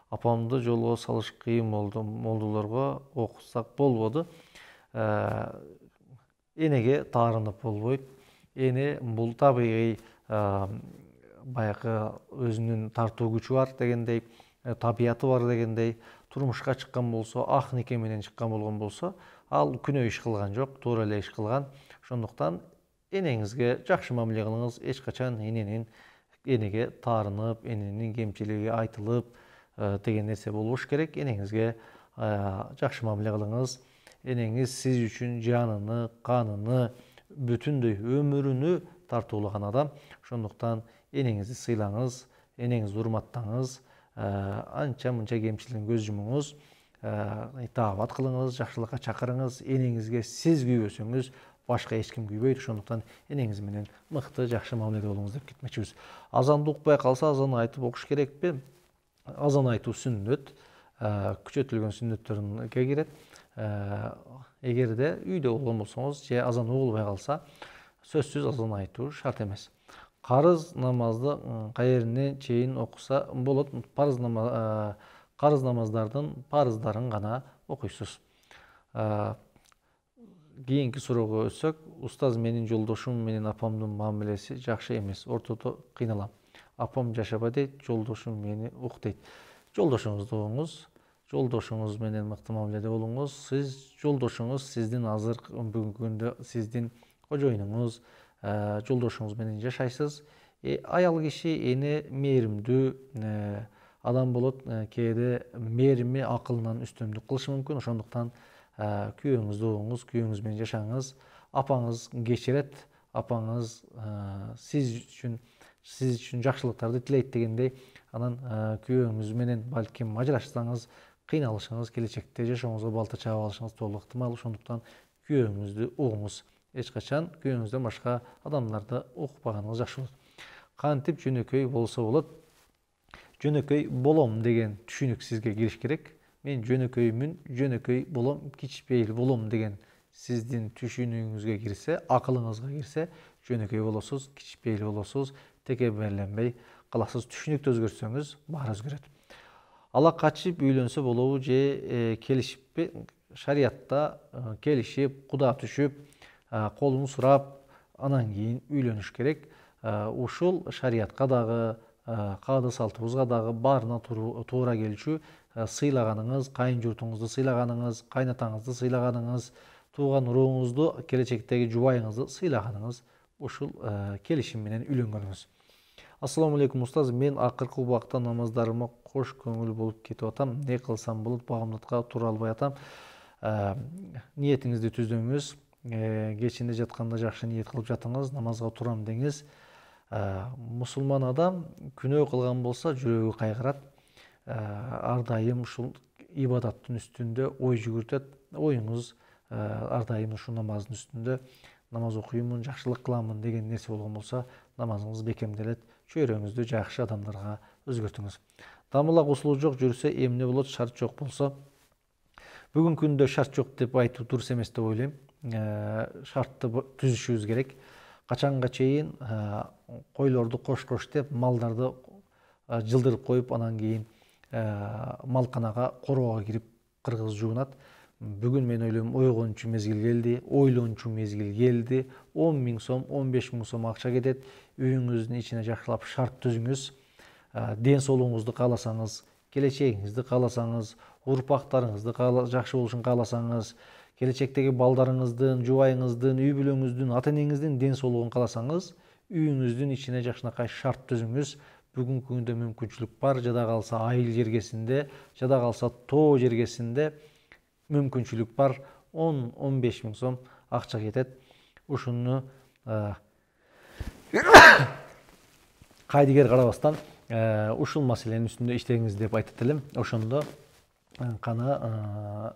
Апамды жолго салыш кыйын болду. Молдолорго окутсак болбоду. Энеге таарынып болбойт. Эне бул табигый баягы өзүнүн тартуу күчү бар дегендей, табияты бар дегендей, турмушка чыккан болсо, ак нике менен чыккан болгон болсо, ал күнөө иш кылган жок, туура эле иш кылган. Ошондуктан энеңизге жакшы мамиле кылыңыз, эч качан энеге таарынып, эненин кемчилиги айтылып деген нерсе болбош керек. Энеңизге жакшы мамиле кылыңыз. Энеңиз сиз үчүн жаныны, каныны, бүтүндөй өмүрүнү тартуулаган адам. Ошондуктан энеңизди сыйлаңыз, энеңизди урматтаңыз, анча-мынча кемчилигин көз жумуңуз, итаабат кылыңыз, жакшылыкка чакырыңыз. Энеңизге сиз күйбөсөңүз, башка эч ким күйбөйт. Ошондуктан энеңиз менен мыкты, жакшы мамиледе болуңуз деп кетмекчибиз. Азанды укпай калса, азан айтып окуш керекпи? Азан айтуу сүннөт, күчөтүлгөн сүннөттөрүнө кирет. Эгерде үйдө болгон болсоңуз, же азан угулбай калса, сөзсүз азан айтуу шарт эмес. Карыз намазды кайеринен чейин окуса болот? Карыз намаздардын парыздарын гана окуйсуз. Кийинки суроого өтсөк, устаз, менин жолдошум менен апамдын мамилеси жакшы эмес. Ортодо кыйналам. Апам жашаба дейт, жолдошум мени ук дейт. Жолдошуңузду угуңуз, жолдошуңуз менен мыкты мамиледе болуңуз. Жолдошуңуз сиздин азыркы бүгүнкү күндө сиздин кожоюнуңуз, жолдошуңуз менен жашайсыз. Аял киши эне мээримдүү адам болот. Кээде мээрими акылынан үстөмдүк кылышы мүмкүн. Ошондуктан күйөөңүздү угуңуз, күйөөңүз менен жашаңыз. Апаңыз кечирет, апаңыз сиз үчүн жакшылыктарды тилейт дегендей, анан күйөөңүз менен балким ажырашсаңыз, кыйналышыңыз, келечекте жашооңузга балта чаап алышыңыз толук ыктымал. Ошондуктан күйөөңүздү угуңуз. Эч качан күйөөңүздөн башка адамдарды укпаганыңыз жакшы болот. Кантип жөнөкөй болсо болот? Жөнөкөй болом деген түшүнүк сизге кириш керек. Мен жөнөкөймүн, жөнөкөй болом, кичпейил болом деген сиздин түшүнүгүңүзгө кирсе, акылыңызга кирсе, жөнөкөй болосуз, кичпейил болосуз, текеберленбей каласыз. Түшүнүктү өзгөртсөңүз, баары өзгөрөт. Ала качып үйлөнсө болобу же келишиппи? Шариятта келишип, куда түшүп, колун сурап, анан кийин үйлөнүш керек. Ушул шариятка дагы, каады салтыбызга дагы баарына туура келчү. Сыйлаганыңыз, кайын журтуңузду сыйлаганыңыз, кайнатаңызды сыйлаганыңыз, тууган урууңузду, келечектеги жубайыңызды сыйлаганыңыз ушул келишим менен үйлөнгөнүңүз. Ассаламу алейкум устаз, мен акыркы убакта намаздарыма кош көңүл болуп кетип атам. Не кылсам болот? Багамдатка тура албай атам. Ниетиңизди түздөңүз. Кечинде жатканда жакшы ниет кылып жатыңыз, намазга турам деңиз. Мусулман адам күнөө кылган болсо жүрөгү кайгырат. Ар дайым ушул ибадаттын үстүндө ой жүгүртөт. Оюңуз ар дайым ушул намаздын үстүндө, намаз окуймун, жакшылык кыламын деген нерсе болгон болсо, намазыңыз бекемделет. Чөйрөңүздү жакшы адамдарга өзгөртүңүз. Дамылак усулу жок жүрсө эмне болот? Шарт жок болсо? Бүгүнкү күндө шарт жок деп айтуу дурус эмес деп ойлойм. Шартты түзүшүбүз керек. Качанга чейин койлорду кош деп, малдарды жылдырып коюп, анан кийин малканага, короого кирип кыргыз жуунат. Бүгүн мен ойлойм, ойгончу мезгил келди, ойлончу мезгил келди. 10 000 сом, 15 000 сом акча кетет. Үйүңүздүн ичине жакшылап шарт түзүңүз. Ден соолугуңузду кааласаңыз, келечегиңизди кааласаңыз, урпактарыңызды жакшы болушун кааласаңыз, келечектеги балдарыңыздын, жубайыңыздын, үй бүлөңүздүн, ата энеңиздин ден соолугун кааласаңыз, үйүңүздүн ичине жакшынакай шарт түзүңүз. Бүгүнкү күндө мүмкүнчүлүк бар. Жада калса айыл жергесинде, жада калса тоо жергесинде мүмкүнчүлүк бар. 10-15 000 сом акча кетет. Ушуну кайдыгер карабастан ушул маселенин үстүндө иштеңиз деп айтат элем. Ошондо кана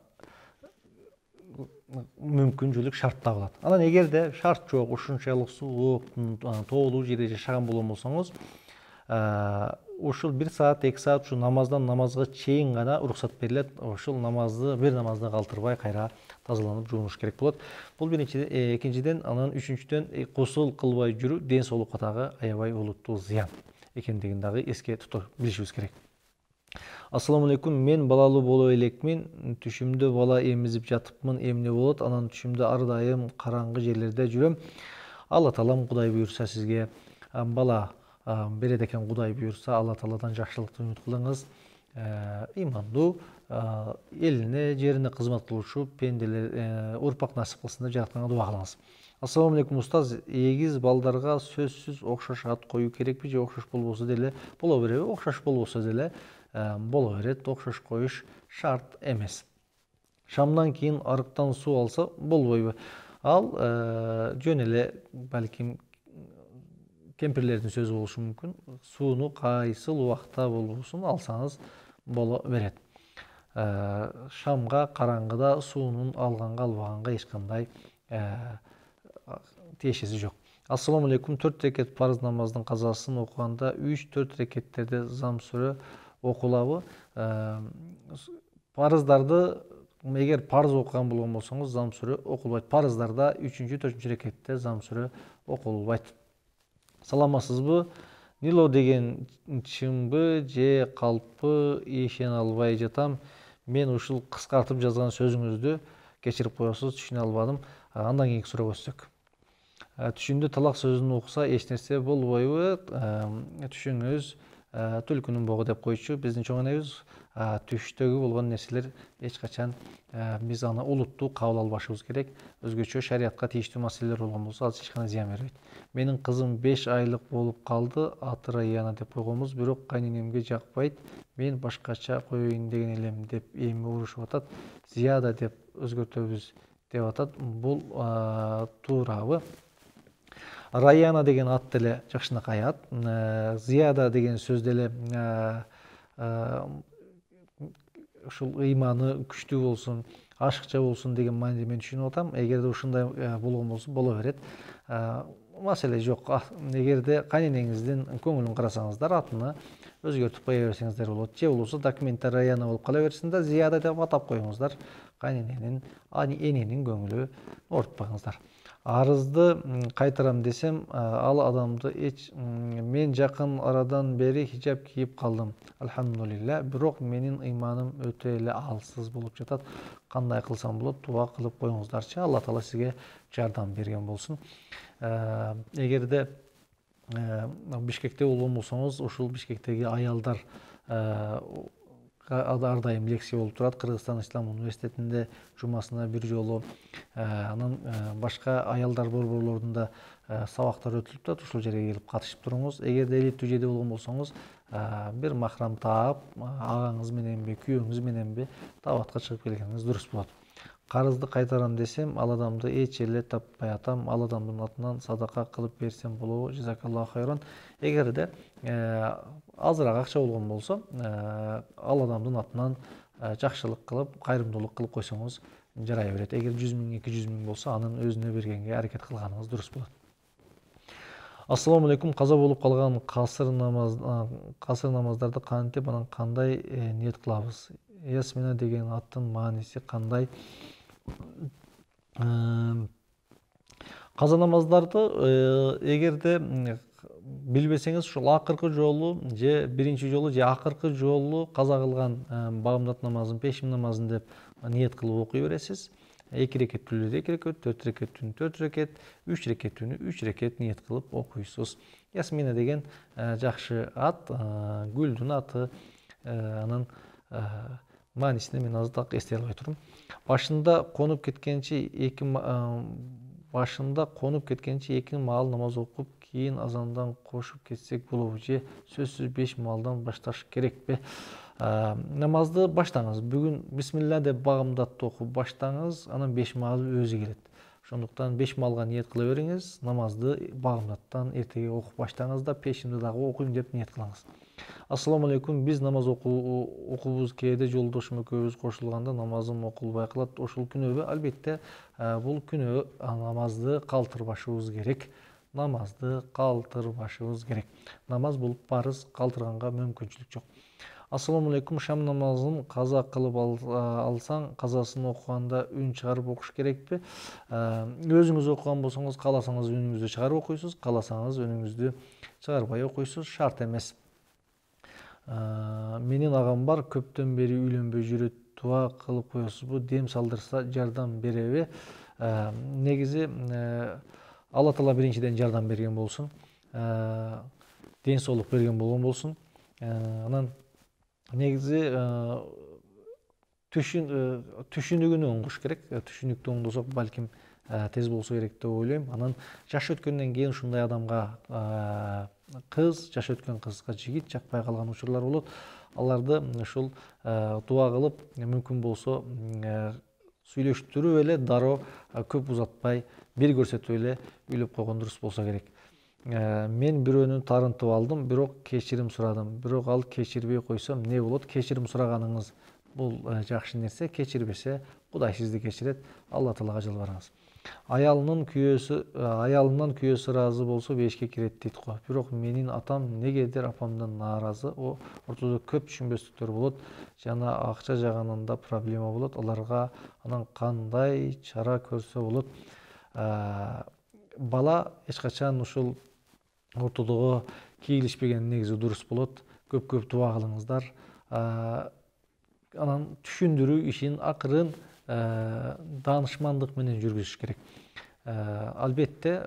мүмкүнчүлүк шарт табылат. Анан эгерде шарт жок, ушунчалык суук, тоолуу жерде жашаган болгон болсоңуз, ушул 1 саат, 2 саат ушу намаздан намазга чейин гана уруксат берилет. Ушул бир намазды калтырбай кайра тазаланып жуунуш керек болот. Бул биринчиден, экинчиден, анан үчүнчүдөн кусул кылбай жүрүү ден соолукка дагы аябай олуттуу зыян экендигин дагы эске билишибиз керек. Ассаламу алейкум, мен балалуу боло элекмин. Түшүмдө бала эмизип жатыпмын, эмне болот? Анан түшүмдө ар дайым караңгы жерлерде жүрөм. Алла таалам Кудай буйрса сизге бала берет экен, Кудай буйрса, Алла тааладан жакшылыкты үмүт кылыңыз. Имандуу, элине, жерине кызмат кылуучу пенделер урпак насип кылсын деп жаратканга дуба кылыңыз. Ассаламу алейкум устаз, эгиз балдарга сөзсүз окшош ат коюу керекпи же окшош болбосо деле боло береби? Окшош болбосо деле боло берет, окшош коюш шарт эмес. Шамдан кийин арыктан суу алса болбойбу? Ал жөн эле балким кемпирлердин сөзү болушу мүмкүн. Сууну кайсыл убакта болбосун алсаңыз боло берет. Шамга, караңгыда суунун алганга албаганга эч кандай тиешеси жок. Ассаламу алейкум, 4 рекет парыз намаздын казасын окуганда 3-4 рекеттерде зам сүрө окулабы? Парыздарды эгер парыз окуган болгон болсоңуз зам сүрө окулбайт. Парыздарда 3-4 рекетте зам сүрө окулбайт. Саламатсызбы? Нило деген чымбы же калппы ишене албай жатам. Мен ушул кыскартып жазган сөзүңүздү кечирип коесуз, түшүнө албадым. Андан кийинки суроо өтсөк. Түшүндө талак сөзүн окуса эч нерсе болбойбу? Түшүңүз түлкүнүн богу деп койчу биздин чоң энебиз. Түштөгү болгон нерселер эч качан биз аны улуттуу кабыл албашыбыз керек. Өзгөчө шариятка тийиштүү маселелер болгон болсо, ал эч кандай зыян бербейт. Менин кызым 5 айлык болуп калды, аты Раяна деп койгонбуз, бирок кайненемге жакпайт. Мен башкача коеюн деген элем деп эми урушуп атат. Зияда деп өзгөртөбүз деп атат. Бул туурабы? Раяна деген ат деле жакшынакай ат. Зияда деген сөз деле ушул ыйманы күчтүү болсун, ашыкча болсун деген мааниде мен түшүнүп атам. Эгерде ушундай болгон болсо боло берет. Маселе жок. Эгерде кайненеңиздин көңүлүн карасаңыздар, атыны өзгөртүп кое берсеңиздер болот. Же болбосо документте Раяна болуп кала берсин да, Зияда деп атап коюңуздар. Кайнененин, эненин көңүлү оорутпаңыздар. Арызды кайтарам десем, ал адамды мен жакын арадан бери хижап кийип калдым. Алхамдулилля, бирок менин ыйманым өтө эле алсыз болуп жатат. Кандай кылсам болот? Дуа кылып коюңуздарчы. Алла таала сизге жардам берген болсун. Эгерде Бишкекте болгон болсоңуз, ушул Бишкектеги аялдар ар дайым лекция болуп турат. Кыргызстан Ислам университетинде жумасына бир жолу, анан башка аялдар борборлорунда сабактар өтүлүп турат. Ушул жерге келип катышып туруңуз. Эгерде элиттүү жерде болгон болсоңуз, бир махрам таап, агаңыз мененби, күйөөңүз мененби табатка чыгып келгениңиз дурус болот. Карызды кайтарам десем, ал адамды эч эле таппай атам. Ал адамдын атынан садака кылып берсем болобу? Жазакаллаху хайран. Эгерде азыраак акча болгон болсо, ал адамдын атынан жакшылык кылып, кайрымдуулук кылып койсоңуз жарай берет. Эгер 100 000, 200 000 болсо, анын өзүнө бергенге аракет кылганыңыз дурус болот. Ассаламу алейкум, каза болуп калган касыр намаздарды кантип, анан кандай ниет кылабыз? Ясмина деген аттын мааниси кандай? Каза намаздарды эгерде билбесеңиз, ушул акыркы жолу же биринчи жолу же акыркы жолу каза кылган багымдат намазын, пешим намазын деп ниет кылып окуй бересиз. 2 рекеттүүлөрдү 2 рекет, 4 рекеттүүнү 4 рекет, 3 рекеттүүнү 3 рекет ниет кылып окуйсуз. Ясмина деген жакшы ат, гүлдүн аты. Анан маанисине мен азыр так эстей албай турум. Башында конуп кеткенче эки маал намаз окуп, кийин азандан кошуп кетсек болобу же сөзсүз 5 маалдан башташ керекпи? Намазды баштаңыз. Бүгүн бисмилла деп багымдатты окуп баштаңыз, анан 5 маал өзү келет. Ошондуктан 5 малга ниет кыла бериңиз, намазды багымдаттан эртеге окуп баштаңыз да пешимди дагы окуйм деп ниет кылыңыз. Ассаламу алейкум. Биз намаз окуубуз кээде жолдошум экөөбүз кошулганда намазым окулбай калат. Ушул күнөөбү? Албетте, бул күнөө. Намазды калтырбашыбыз керек. Намаз бул парыз, калтырганга мүмкүнчүлүк жок. Ассаламу алейкум. Шам намазын каза кылып алсаң, казасын окуганда үн чыгарып окуш керекпи? Өзүңүз окуган болсоңуз, кааласаңыз үнүңүздү чыгарып окуйсуз, кааласаңыз үнүңүздү чыгарбай окуйсуз, шарт эмес. Менин агам бар, көптөн бери үйлөнбөй жүрөт. Дуа кылып коесузбу? Дем салдырса жардам береби? Негизи Алла Таала биринчиден жардам берген болсун. Ден соолук берген болгон болсун. Анан негизи түшүнүгүнү оңдош керек. Түшүнүктү оңдосок балким тез болсо керек деп ойлойм. Анан жаш өткөндөн кийин ушундай адамга жаш өткөн кызга жигит жакпай калган учурлар болот. Аларды ушул дуа кылып, мүмкүн болсо сүйлөштүрүп эле дароо көп узатпай бир көрсөтүп эле үйлөп койгон дурус болсо керек. Мен бирөөнү тарынтып алдым, бирок кечирим сурадым. Бирок ал кечирбей койсо эмне болот? Кечирим сураганыңыз бул жакшы нерсе. Кечирбесе Кудай сизди кечирет. Алла Таалага жалбарыңыз. Аялынан күйөөсү ыраазы болсо бешикке кирет дейт го. Бирок менин атам негедир апамдан нааразы. Ортодо көп түшүнбөстүктөр болот жана акча жагынан проблема болот. Аларга анан кандай чара көрсө болот? Бала эч качан ушул ортодого кийлишпеген негизи дурус болот. Көп дуа кылыңыздар. Анан түшүндүрүү ишин акырын даанышмандык менен жүргүзүш керек. Албетте,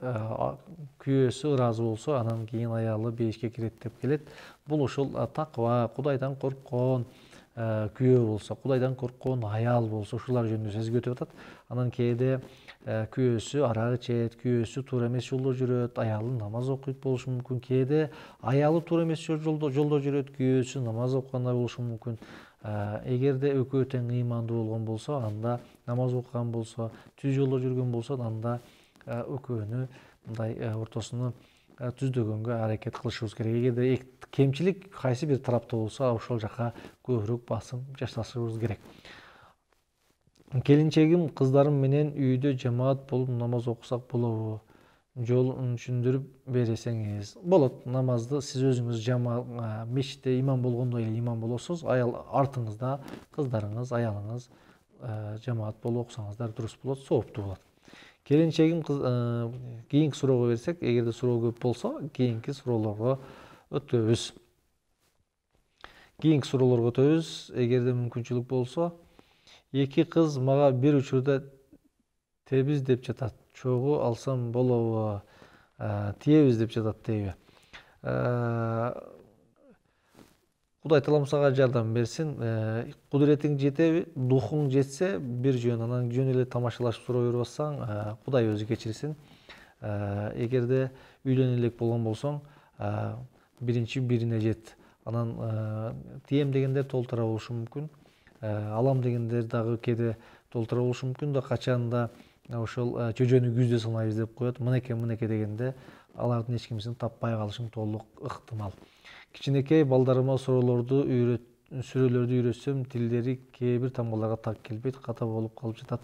күйөөсү ыраазы болсо, анан кийин аялы бейишке кирет деп келет. Бул ушул такыба, Кудайдан корккон күйөө болсо, Кудайдан корккон аял болсо, ушулар жөнүндө сөз өтүп атат. Анан кээде күйөөсү арак ичет, күйөөсү туура эмес жолдо жүрөт, аялы намаз окуйт болушу мүмкүн. Кээде аялы туура эмес жолдо жүрөт, күйөөсү намаз окугандай болушу мүмкүн. Эгерде экөө тең ыймандуу болгон болсо, анда намаз окуган болсо, түз жолдо жүргөн болсо, анда экөөнү мындай ортосуну түздөгөнгө аракет кылышыбыз керек. Эгерде кемчилик кайсы бир тарапта болсо, ошол жака көбүрөөк басым жасашыбыз керек. Келинчегим, кыздарым менен үйдө жамаат болуп намаз окусак болобу? Жолун түшүндүрүп берсеңиз. Болот. Намазды сиз өзүңүз мешитте имам болгондой эле имам болосуз. Артыңызда кыздарыңыз, аялыңыз жамаат болуп окусаңыздар дурус болот, сооптуу болот. Келинчегим, кийинки суроого берсек, эгерде суроо көп болсо, кийинки суроолорго өтөбүз. Эгерде мүмкүнчүлүк болсо, эки кыз мага бир учурда тебиз деп жатат. Чогуу алсам болобу? Тиебиз деп жатат дейби? Кудай Таалам сага жардам берсин. Кудуретиң жетеби? Духуң жетсе бир жөн, анан жөн эле тамашалашып суроо берип атсаң, Кудай өзү кечирсин. Эгерде үйлөнө элек болгон болсоң, биринчи бирине жет. Анан тием дегендер толтура болушу мүмкүн. Алам дегендер дагы кээде толтура болушу мүмкүн да, качанда ошол чөжөнү күздө санайбыз деп коет. Мынеке дегенде алардын эч кимисин таппай калышың толук ыктымал. Кичинекей балдарыма сүрөлөрдү үйрөтсөм, тилдери кээ бир тамгаларга так келбейт, ката болуп калып жатат.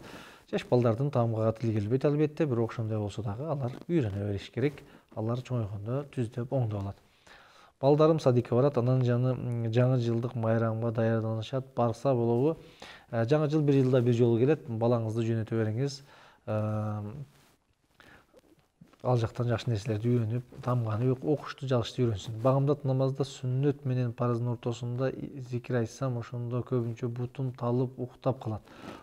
Жаш балдардын тамгага тили келбейт албетте, бирок ошондой болсо дагы алар үйрөнө бериш керек. Алар чоңойгондо түздөп оңдоп алат. Балдарым садикке барат, анан жаңы жылдык майрамга даярданышат. Барса болобу? Жаңы жыл бир жылда бир жолу келет. Балаңызды жөнөтө бериңиз. Ал жактан жакшы нерселерди үйрөнүп, тамганы окушту, жазышты үйрөнсүн. Багымдат намазда сүннөт менен парыздын ортосунда зикир айтсам, ошондо көбүнчө бутум талып уктап калат.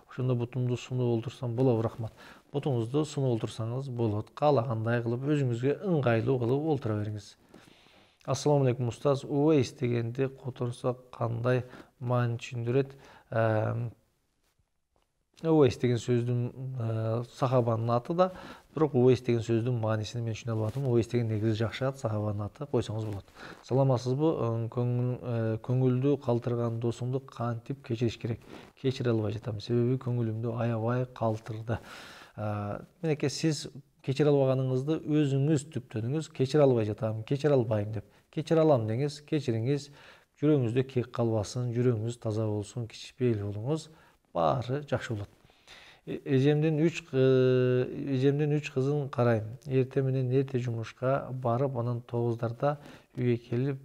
Ошондо бутумду сунуп олтурсам болобу? Рахмат. Бутуңузду сунуп олтурсаңыз болот. Каалагандай кылып, өзүңүзгө ыңгайлуу кылып олтура бериңиз. Ассаламу алейкум устаз. Увейс дегенди которсок кандай маани түшүндүрөт? Увейс деген сөздүн сахабанын аты да, бирок Увейс деген сөздүн маанисин мен түшүнө албадым. Увейс деген негизи жакшы ат, сахабанын аты, койсоңуз болот. Саламатсызбы? Көңүлдү калтырган досумду кантип кечириш керек? Кечире албай жатам, себеби көңүлүмдү аябай калтырды. Менеке сиз кечире албаганыңызды өзүңүз түптөдүңүз. Кечире албай жатам, кечире албайм деп. Кечире алам деңиз, кечириңиз. Жүрөгүңүздө кек калбасын, жүрөгүңүз таза болсун, кичишпейли болуңуз. Баары жакшы болот. Эжемдин 3 кызын карайм. Эрте менен эрте жумушка барып, анан 9дарда үйгө келип,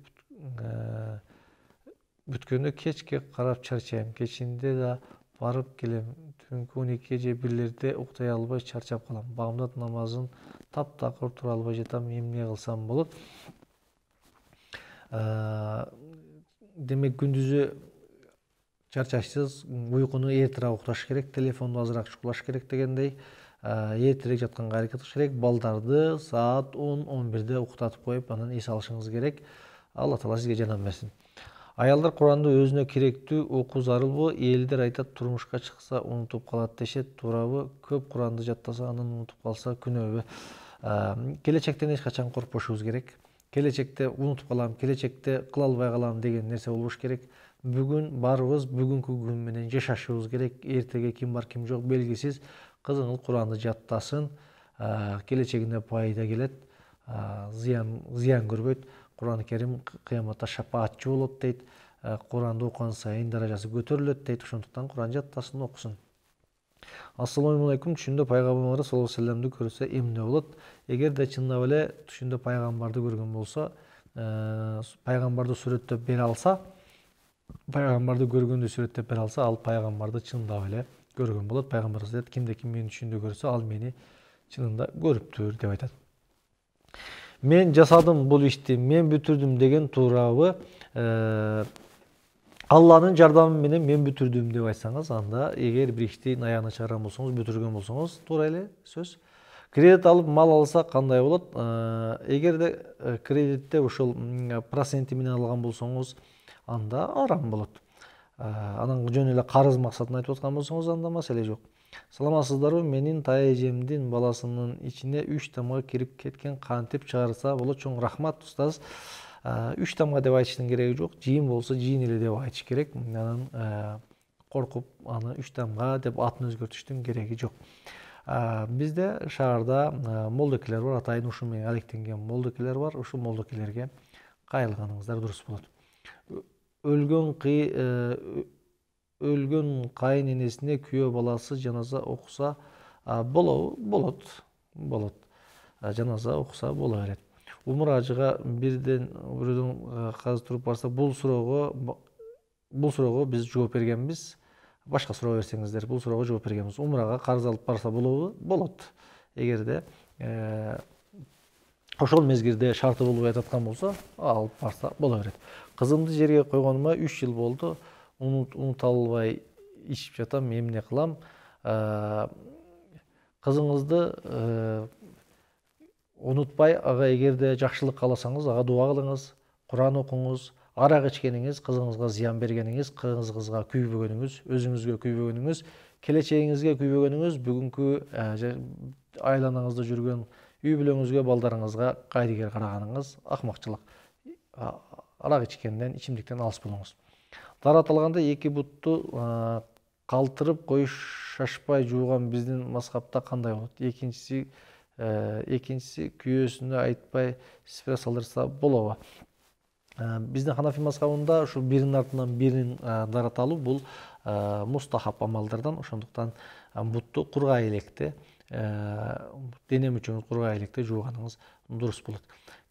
бүткөндө кечке карап чарчайм. Кечинде да барып келем. Түнкү 12 же 1лерде уктай албай чарчап калам. Бамдат намазын таптакыр тура албай жатам. Эмне кылсам болот? Демек күндүзү чарчашсыз, уйкуну эртерээк укташ керек, телефонду азыраак чукулаш керек дегендей, эртерээк жатканга аракет кылыш керек. Балдарды саат 10-11де уктатып коюп, анан эс алышыңыз керек. Алла таала сизге жардам берсин. Аялдар Куранды өзүнө керектүү окуу зарылбы? Элдер айтат, турмушка чыкса унутуп калат дешет. Туурабы? Көп Куранды жаттаса, анан унутуп калса күнөөбү? Келечектен эч качан коркпошубуз керек. Келечекте унутуп калам, келечекте кыла албай калам деген нерсе болбош керек. Бүгүн барыбыз бүгүнкү күн менен жашашыбыз керек. Эртеге ким бар, ким жок белгисиз. Кызыңыз Куранды жаттасын, келечегине пайда келет, зыян көрбөйт. Куран Керим кыяматта шапаатчы болот дейт. Куранды окуган сайын даражасы көтөрүлөт дейт. Ошондуктан Куран жаттасын, окусун. Ассаламу алейкум. Түшүндө пайгамбарыбыз саллаллаху алейхи вассаламды көрсө эмне болот? Эгерде чындап эле түшүндө пайгамбарды көргөн болсо, пайгамбарды сүрөттөп бере алса, пайгамбарды көргөндү сүрөттөп бере алса, ал пайгамбарды чындап эле көргөн болот. Пайгамбарыбыз айтат, кимде-ким мени түшүндө көрсө, ал мени чынында көрүптүр деп айтат. Мен жасадым бул ишти, мен бүтүрдүм деген туурабы? Алланын жардамы менен мен бүтүрдүм деп айтсаңыз, анда эгер бир иштин аягына чыгарган болсоңуз, бүтүргөн болсоңуз, туура эле сөз. Кредит алып мал алса кандай болот? Эгерде кредитте ошол проценти менен алган болсоңуз, анда арам болот. Анан жөн эле карыз максатында айтып аткан болсоңуз, анда маселе жок. Саламатсыздарбы? Менин тайэжемдин баласынын ичине 3 тамга кирип кеткен, кантип чыгарса болот? Чоң рахмат, устаз. 3 тамга деп айтыштын кереги жок. Жийин болсо жийин эле деп айтыш керек. Анан коркуп, аны 3 тамга деп атын өзгөртүштүн кереги жок. Бизде шаарда молдокелер бар, атайын ушу менен алектенген молдокелер бар. Ушул молдокелерге кайрылганыңыздар дурус болот. Өлгөн кайын энесине күйөө баласы жаназа окуса болобу? Болот. Жаназа окуса боло берет. Умур ажыга бирөөдөн казы туруп барса, бул суроого биз жооп бергенбиз. Башка суроо берсеңиздер, бул суроого жооп бергенбиз. Умурага карыз алып барса болобу? Болот. Эгерде ошол мезгилде шарты болбой аткан болсо, алып барса боло берет. Кызымды жерге койгонума 3 жыл болду. Унута албай ичип жатам, эмне кылам? Кызыңызды унутпай, ага эгерде жакшылык кааласаңыз, ага дуа кылыңыз, Куран окуңуз. Арак ичкениңиз, кызыңызга зыян бергениңиз, кызыңызга күйбөгөнүңүз, өзүңүзгө күйбөгөнүңүз, келечегиңизге күйбөгөнүңүз, бүгүнкү айланаңызда жүргөн үй бүлөңүзгө, балдарыңызга кайдыгер караганыңыз акмакчылык. Арак ичкенден, ичимдиктен алыс болуңуз. Дарат алганда 2 бутту калтырып коюшашпай жууган биздин мазхабта кандай болот? Экинчиси күйөөсүнө айтпай сифре салдырса болобу? Биздин Ханафи мазхабында ушул биринин артынан бирин дарат алуу бул мустахаб амалдардан. Ошондуктан бутту кургай электе, дене мүчөңүз кургай электе жууганыңыз дурус болот.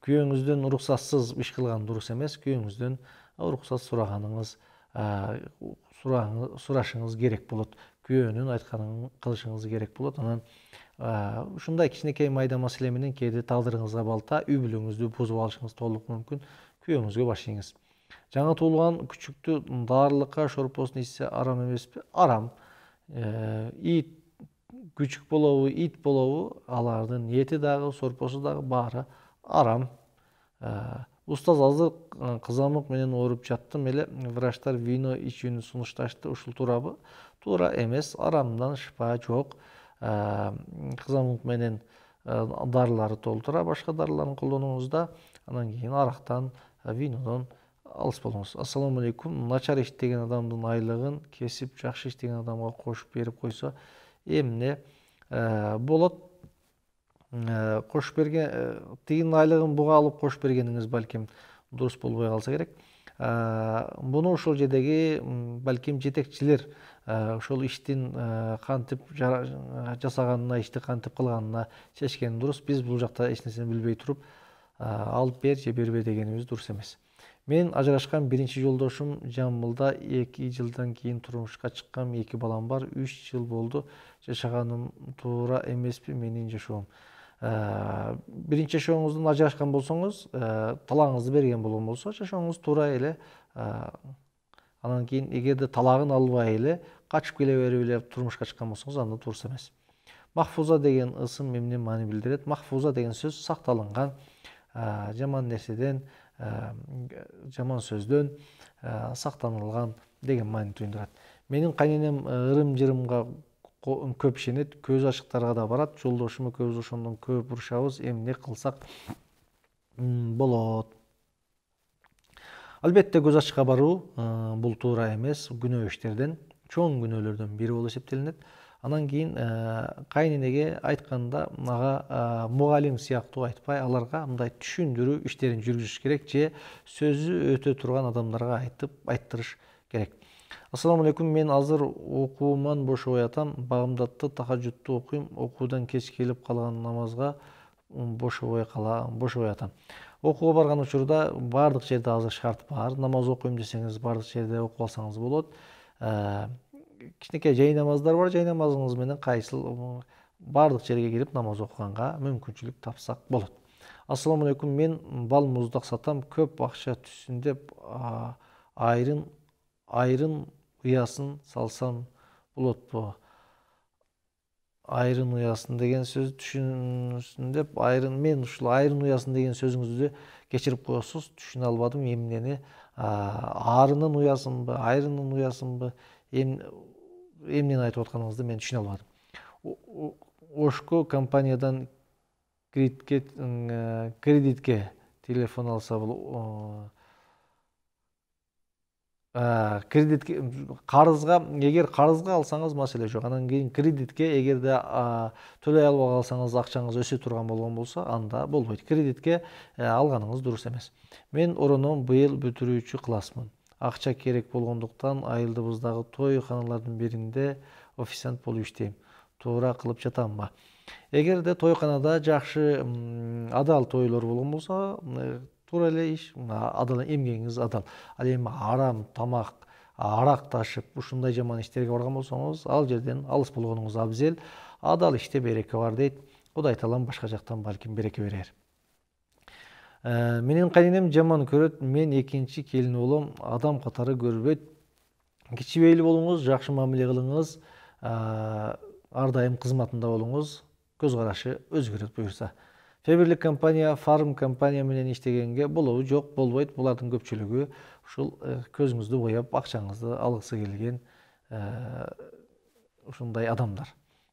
Күйөөңүздөн уруксатсыз иш кылган дурус эмес. Күйөөңүздөн уруксат сурашыңыз керек болот. Күйөөнүн айтканын кылышыңыз керек болот. Анан ушундай кичинекей майда маселе менен кээде тагдырыңызга балта, үй бүлөңүздү бузуп алышыңыз толук мүмкүн. Күйөөңүзгө баш ийиңиз. Жаңы туулган күчүктү дарылыкка, шорпосун ичсе арам эмеспи? Арам. Ит күчүк болобу, ит болобу, алардын эти дагы, сорпосу дагы баары арам. Устаз, азыр кызамык менен ооруп жаттым эле. Врачтар вино ичүүнү сунушташты. Ушул туурабы? Туура эмес. Арамдан шыпа жок. Кызамык менен дарыларды толтура, башка дарыларын колдонуңузда, анан кийин арактан, винодон алыс болуңуз. Ассаламу алейкум. Начар иштеген адамдын айлыгын кесип, жакшы иштеген адамга кошуп берип койсо, эмне болот. Кош берген тигин айлыгын буга алып кош бергениңиз балким дурус болбой калса керек. Буну ошол жердеги балким жетекчилер ошол иштин кантип жасаганына, ишти кантип кылганына чечкен дурус. Биз бул жакта эч нерсени билбей туруп алып бер же бербе дегенибиз дурус эмес. Мен ажырашкан биринчи жолдошум Жамбылда 2 жылдан кийин турмушка чыккам, 2 балам бар, 3 жыл болду. Жашаганым туура эмеспи менин жашоом? Биринчи жашооңуздун ажырашкан болсоңуз, талаагыңызды берген болгон болсо, жашооңуз туура эле. Анан кийин эгерде талагын албай эле качып келе берип эле турмушка чыккан болсоңуз, анда дурус эмес. Махфуза деген ысым эмне маани билдирет? Махфуза деген сөз сакталынган, жаман нерседен, жаман сөздөн сактанылган деген маани туюндурат. Менин кайненем ырым-жырымга көп ишенет, көз ачыктарга да барат. Жолдошума көбүз ошондон көп урушабыз, эмне кылсак болот? Албетте көз ачыкка баруу бул туура эмес, күнөө иштерден, чоң күнөөлөрдөн бири болуп эсептелинет. Анан кийин кайненеге айтканда ага мугалим сыяктуу айтпай, аларга мындай түшүндүрүү иштерин жүргүзүш керек же сөзү өтө турган адамдарга айттырыш керек. Ассаламу алейкум, мен азыр окууман бошобой атам, багымдатты тахажжудту окуйм, окуудан кеч келип калган намазга бошобой атам. Окууга барган учурда баардык жерде азыр шарт бар. Намаз окуйм десеңиз, баардык жерде окуп алсаңыз болот. Кичинекей жай намаздар бар, жай намазыңыз менен кайсыл баардык жерге кирип намаз окуганга мүмкүнчүлүк тапсак болот. Ассаламу алейкум, мен бал муздак сатам, көп акча түшсүн деп айрын уясын салсам болотпу? Айрын уясын деген сөз түшүнсүн деп, мен ушул айрын уясын деген сөзүңүздү кечирип коесуз, түшүнө албадым эмнени. Арынын уясынбы, айрынын уясынбы, эмнени айтып атканыңызды мен түшүнө албадым. Ошко компаниядан кредитке телефон алса болот. Кредитке, карызга, эгер карызга алсаңыз маселе жок. Анан кийин кредитке эгерде төлөй албай калсаңыз, акчаңыз өсө турган болгон болсо, анда болбойт. Кредитке алганыңыз дурус эмес. Мен ороном быйыл бүтүрүүчү классмын. Акча керек болгондуктан айылдыбыздагы тойканалардын биринде официант болуп иштейм. Туура кылып жатамбы? Эгерде тойканада жакшы адал тойлор болгон болсо, туура эле иш, адал эмгегиңиз адал. Ал эми арам тамак, арак ташып, ушундай жаман иштерге барган болсоңуз, ал жерден алыс болгонуңуз абзел. Адал иште береке бар дейт. Кудай таалам башка жактан балким береке берер. Менин кайненем жаман көрөт, мен экинчи келин болом, адам катары көрбөйт. Кичибейли болуңуз, жакшы мамиле кылыңыз, ар дайым кызматында болуңуз, көз карашы өзгөрөт буюрса. Феберлик компания, фарм компания менен иштегенге болобу? Жок, болбойт. Булардын көпчүлүгү ушул көзүңүздү бояп, акчаңызды алгысы келген ушундай адамдар.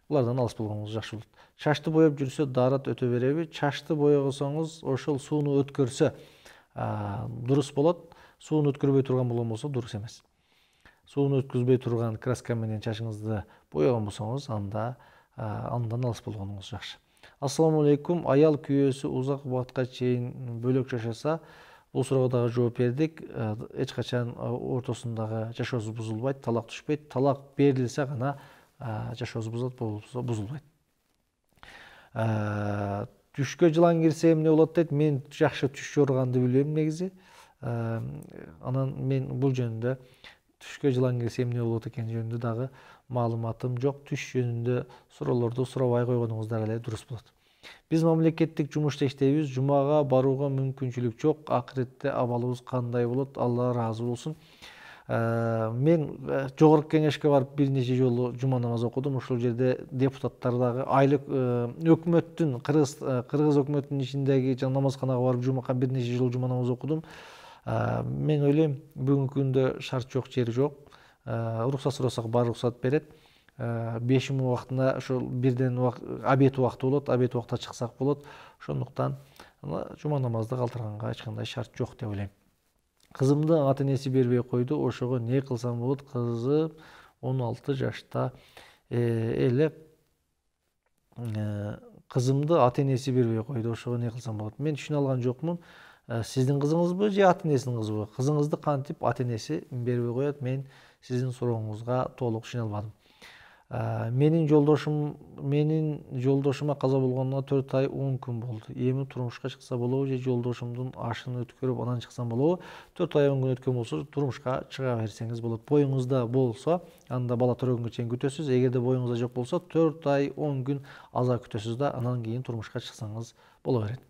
Булардан алыс болгонуңуз жакшы болот. Чачты бояп жүрсө дарат өтө береби? Чачты боягосоңуз, ошол сууну өткөрсө дурус болот. Сууну өткөрбөй турган болгон болсо дурус эмес. Сууну өткөзбөй турган краска менен чачыңызды бояган болсоңуз, андан алыс болгонуңуз жакшы. Ассаламу алейкум, аял күйөөсү узак убакытка чейин бөлөк жашаса, бул суроого дагы жооп бердик. Эч качан ортосундагы жашоосу бузулбайт, талак түшпөйт. Талак берилсе гана жашоосу бузулат, болбосо бузулбайт. Түшкө жылан кирсе эмне болот дейт? Мен жакшы түш жорганды билбейм негизи. Анан мен бул жөнүндө түшкө жылан кирсе эмне болот экен жөнүндө дагы маалыматым жок. Түш жөнүндө суроолорду сурабай койгонуңуздар эле дурус болот. Биз мамлекеттик жумушта иштейбиз, жумага барууга мүмкүнчүлүк жок. Акыретте абалыбыз кандай болот? Алла ыраазы болсун. Мен жогорку кеңешке барып бир нече жолу жума намаз окудум. Ошол жерде депутаттар дагы айлык өкмөттүн, кыргыз өкмөтүнүн ичиндеги намазканага барып бир нече жолу жума намаз окудум. Мен ойлойм, бүгүнкү күндө шарт жок, жери жок. Уруксат сурасак бар уруксат берет. 5 убактында ошол бирден обед убакты болот, обед убакта чыксак болот. Ошондуктан жума намазды калтырганга эч кандай шарт жок деп ойлойм. Кызымды ата-энеси бербей койду, ошого не кылсам болот? Кызым 16 жашта эле кызымды ата энеси бербей койду, ошого эмне кылсам болот? Мен түшүнө алган жокмун. Сиздин кызыңызбы же ата энесинин кызыбы? Кызыңызды кантип ата энеси бербей коет? Мен сиздин сурооңузга толук түшүнө албадым. Менин жолдошума каза болгонуна 4 ай 10 күн болду. Эми турмушка чыкса болобу же жолдошумдун ашын өткөрүп анан чыксам болобу? 4 ай 10 күн өткөн болсо турмушка чыга берсеңиз болот. Боюңузда болсо, анда бала төрөгөнгө чейин күтөсүз. Эгерде боюңузда жок болсо, 4 ай 10 күн аза күтөсүз да, анан кийин турмушка чыксаңыз боло берет.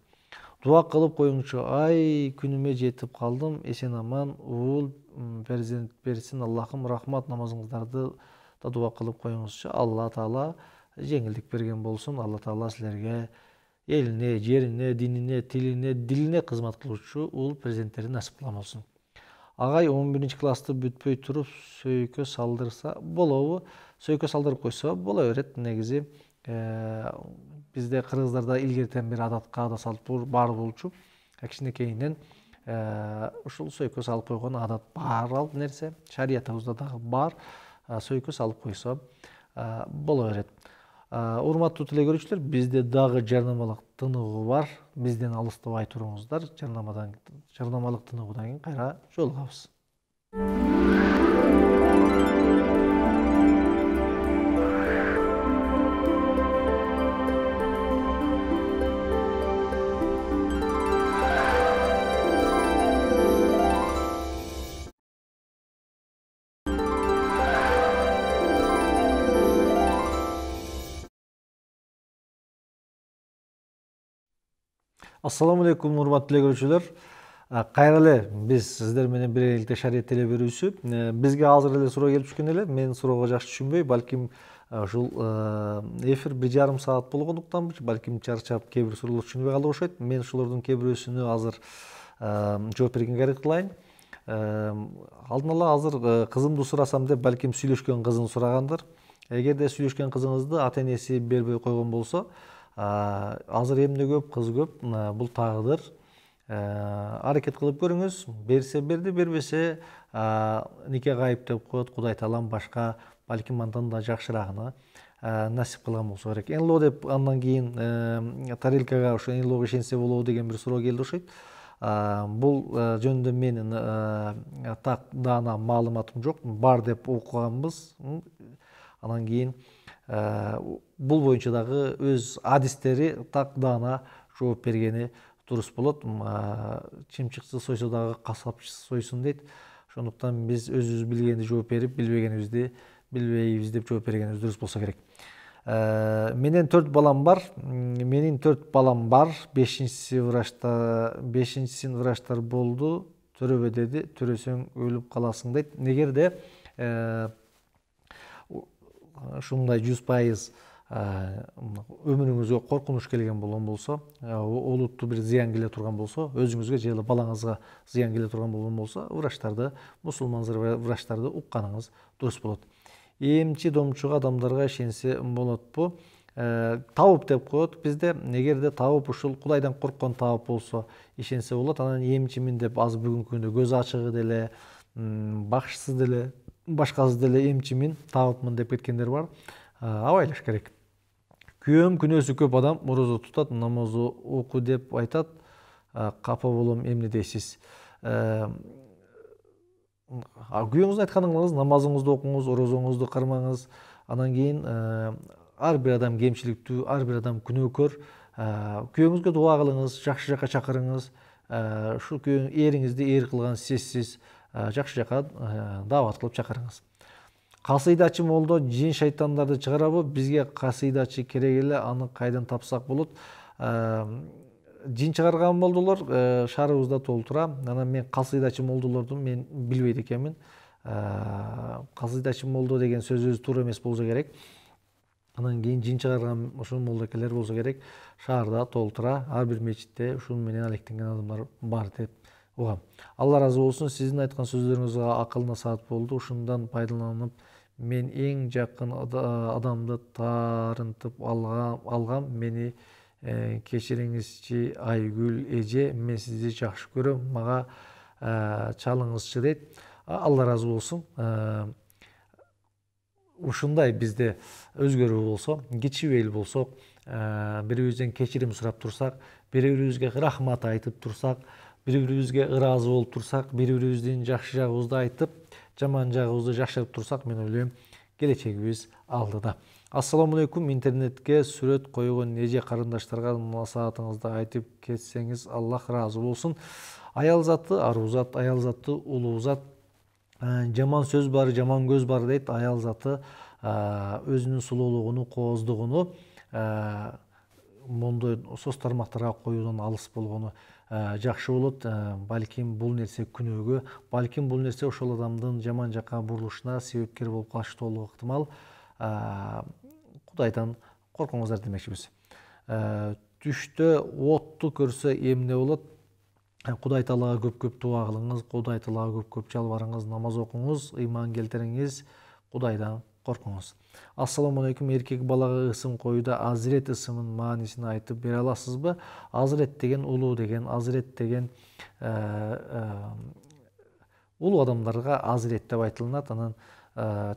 Дуа кылып коюңузчу. Ай, күнүмө жетип калдым. Эсен аман уул перзент берсин. Аллахым рахмат, намазыңыздарды да дуа кылып коюңузчу. Алла Таала жеңилдик берген болсун. Алла Таала силерге элине, жерине, динине, тилине, дилине кызмат кылуучу уул перзенттерди насип кылган болсун. Агай 11 классты бүтпөй туруп сөйкө салдырса болобу? Сөйкө салдырып койсо боло берет. Негизи бизде кыргыздарда илгертен бери адатка да салт бар болчу. Кичинекейинен ушул сөйкө салып койгон адат бар нерсе. Шариятыбызда дагы бар. Сөйкө салып койсо боло берет. Урматтуу теле көрүүчүлөр, бизде дагы жарнамалык тыныгуу бар. Бизден алыстабай туруңуздар. Жарнамалык тыныгуудан кийин кайра жолугабыз. Ассаламу алейкум, урматтуу теле көрүүчүлөр. Кайра эле биз сиздер менен биргеликте шарият теле берүүсү. Бизге азыр эле суроо келип түшкөн эле. Мен суроого жакшы түшүнбөй, балким ушул эфир 1,5 саат болгондуктанбы, балким чарчап кээ бир суроолор түшүнбөй калды окшойт. Мен ушулордун кээ бирөөсүнө азыр жооп бергенге аракет кылайын. Алдын ала азыр кызымды сурасам деп, балким сүйлөшкөн кызын сурагандыр. Эгерде сүйлөшкөн кызыңызды ата энеси бербей койгон болсо, азыр эмне көп, кыз көп, бул тагдыр. Аракет кылып көрүңүз. Берсе берди, бербесе нике кайып деп коет. Кудай таалам башка, балким андан да жакшырагына насип кылган болсо керек. Энло деп андан кийин тарелкага ошо энлого ишенсе болобу деген бир суроо келди окшойт. Бул жөнүндө менин так даана маалыматым жок. Бар деп окуганбыз. Анан кийин бул боюнча дагы өз адистери так даана жооп бергени дурус болот. Чымчыкчы сойсо дагы касапчысы сойсун дейт. Ошондуктан биз өзүбүз билгенди жооп берип, билбегенибизди билбейбиз деп жооп бергенибиз дурус болсо керек. Менин 4 балам бар. 5-син врачтар болду. Төрөбө деди. Төрөсөң өлүп каласың дейт. Негерде ушундай 100% өмүрүңүзгө коркунуч келген болгон болсо, олуттуу бир зыян келе турган болсо, өзүңүзгө же балаңызга зыян келе турган болгон болсо, врачтарды, мусулман врачтарды укканыңыз дурус болот. Эмчи домчуга адамдарга ишенсе болотпу? Табып деп коет бизде. Эгерде табып ушул Кудайдан корккон табып болсо, ишенсе болот. Анан эмчимин деп азыр бүгүнкү күндө көз ачыгы деле, бакшысыз деле, башкасы деле эмчимин, табыпмын деп кеткендер бар. Абайлаш керек. Күйөөм күнөөсү көп адам орозо тутат, намаз оку деп айтат. Капа болом, эмне дейсиз? Күйөөңүздүн айтканыңыз, намазыңызды окуңуз, орозоңузду кармаңыз. Анан кийин ар бир адам кемчиликтүү, ар бир адам күнөөкөр. Күйөөңүзгө дуа кылыңыз, жакшы жака чакырыңыз. Ушул күйөөң эриңизди эр кылган сизсиз, жакшы жака даават кылып чакырыңыз. Касыйдачы молдо жин шайтандарды чыгарабы? Бизге касыйдачы керек эле, аны кайдан тапсак болот? Жин чыгарган молдолор шаарыбызда толтура. Анан мен касыйдачы молдолорду мен билбейт экенмин. Касыйдачы молдо деген сөз өзү туура эмес болсо керек. Анан кийин жин чыгарган ошол молдокелер болсо керек. Шаарда толтура, ар бир мечитте ушун менен алектенген адамдар бар деп угам. Алла ыраазы болсун, сиздин айткан сөздөрүңүз акылына саат болду. Ушундан пайдаланып, мен эң жакын адамды таарынтып алгам. Мени кечириңизчи Айгүл эже, мен сизди жакшы көрөм. Мага чалыңызчы дейт. Алла ыраазы болсун. Ушундай бизде өзгөрүү болсо, кичибейли болсо, бири-бирибизден кечирим сурап турсак, бири-бирибизге рахмат айтып турсак, бири-бирибизге ыраазы болуп турсак, бири-бирибиздин жакшы жагыбызды айтып, жаман жагыбызды жакшыртып турсак, мен ойлойм келечегибиз алдыда. Ассаламу алейкум. Интернетке сүрөт койгон эже карындаштарга насаатыңызды айтып кетсеңиз, Аллах ыраазы болсун. Аял заты аруу зат, аял заты улуу зат. Жаман сөз бар, жаман көз бар дейт. Аял заты өзүнүн сулуулугуну, кооздугуну мондой соц тармактарга коюудан алыс болгону жакшы болот. Балким бул нерсе күнөөгө, балким бул нерсе ошол адамдын жаман жакка бурулушуна себепкер болуп калышы толук ыктымал. Кудайдан коркуңуздар демекчибиз. Түштө отту көрсө эмне болот? Кудай Таалага көп-көп дуа кылыңыз, Кудай Таалага көп-көп жалбарыңыз, намаз окуңуз, ыйман келтириңиз, Кудайдан коркуңуз. Ассаламу алейкум. Эркек балага ысым коюуда Азирет ысымынын маанисин айтып бере аласызбы? Азирет деген улуу деген, Азирет деген улуу адамдарга Азирет деп айтылат, анан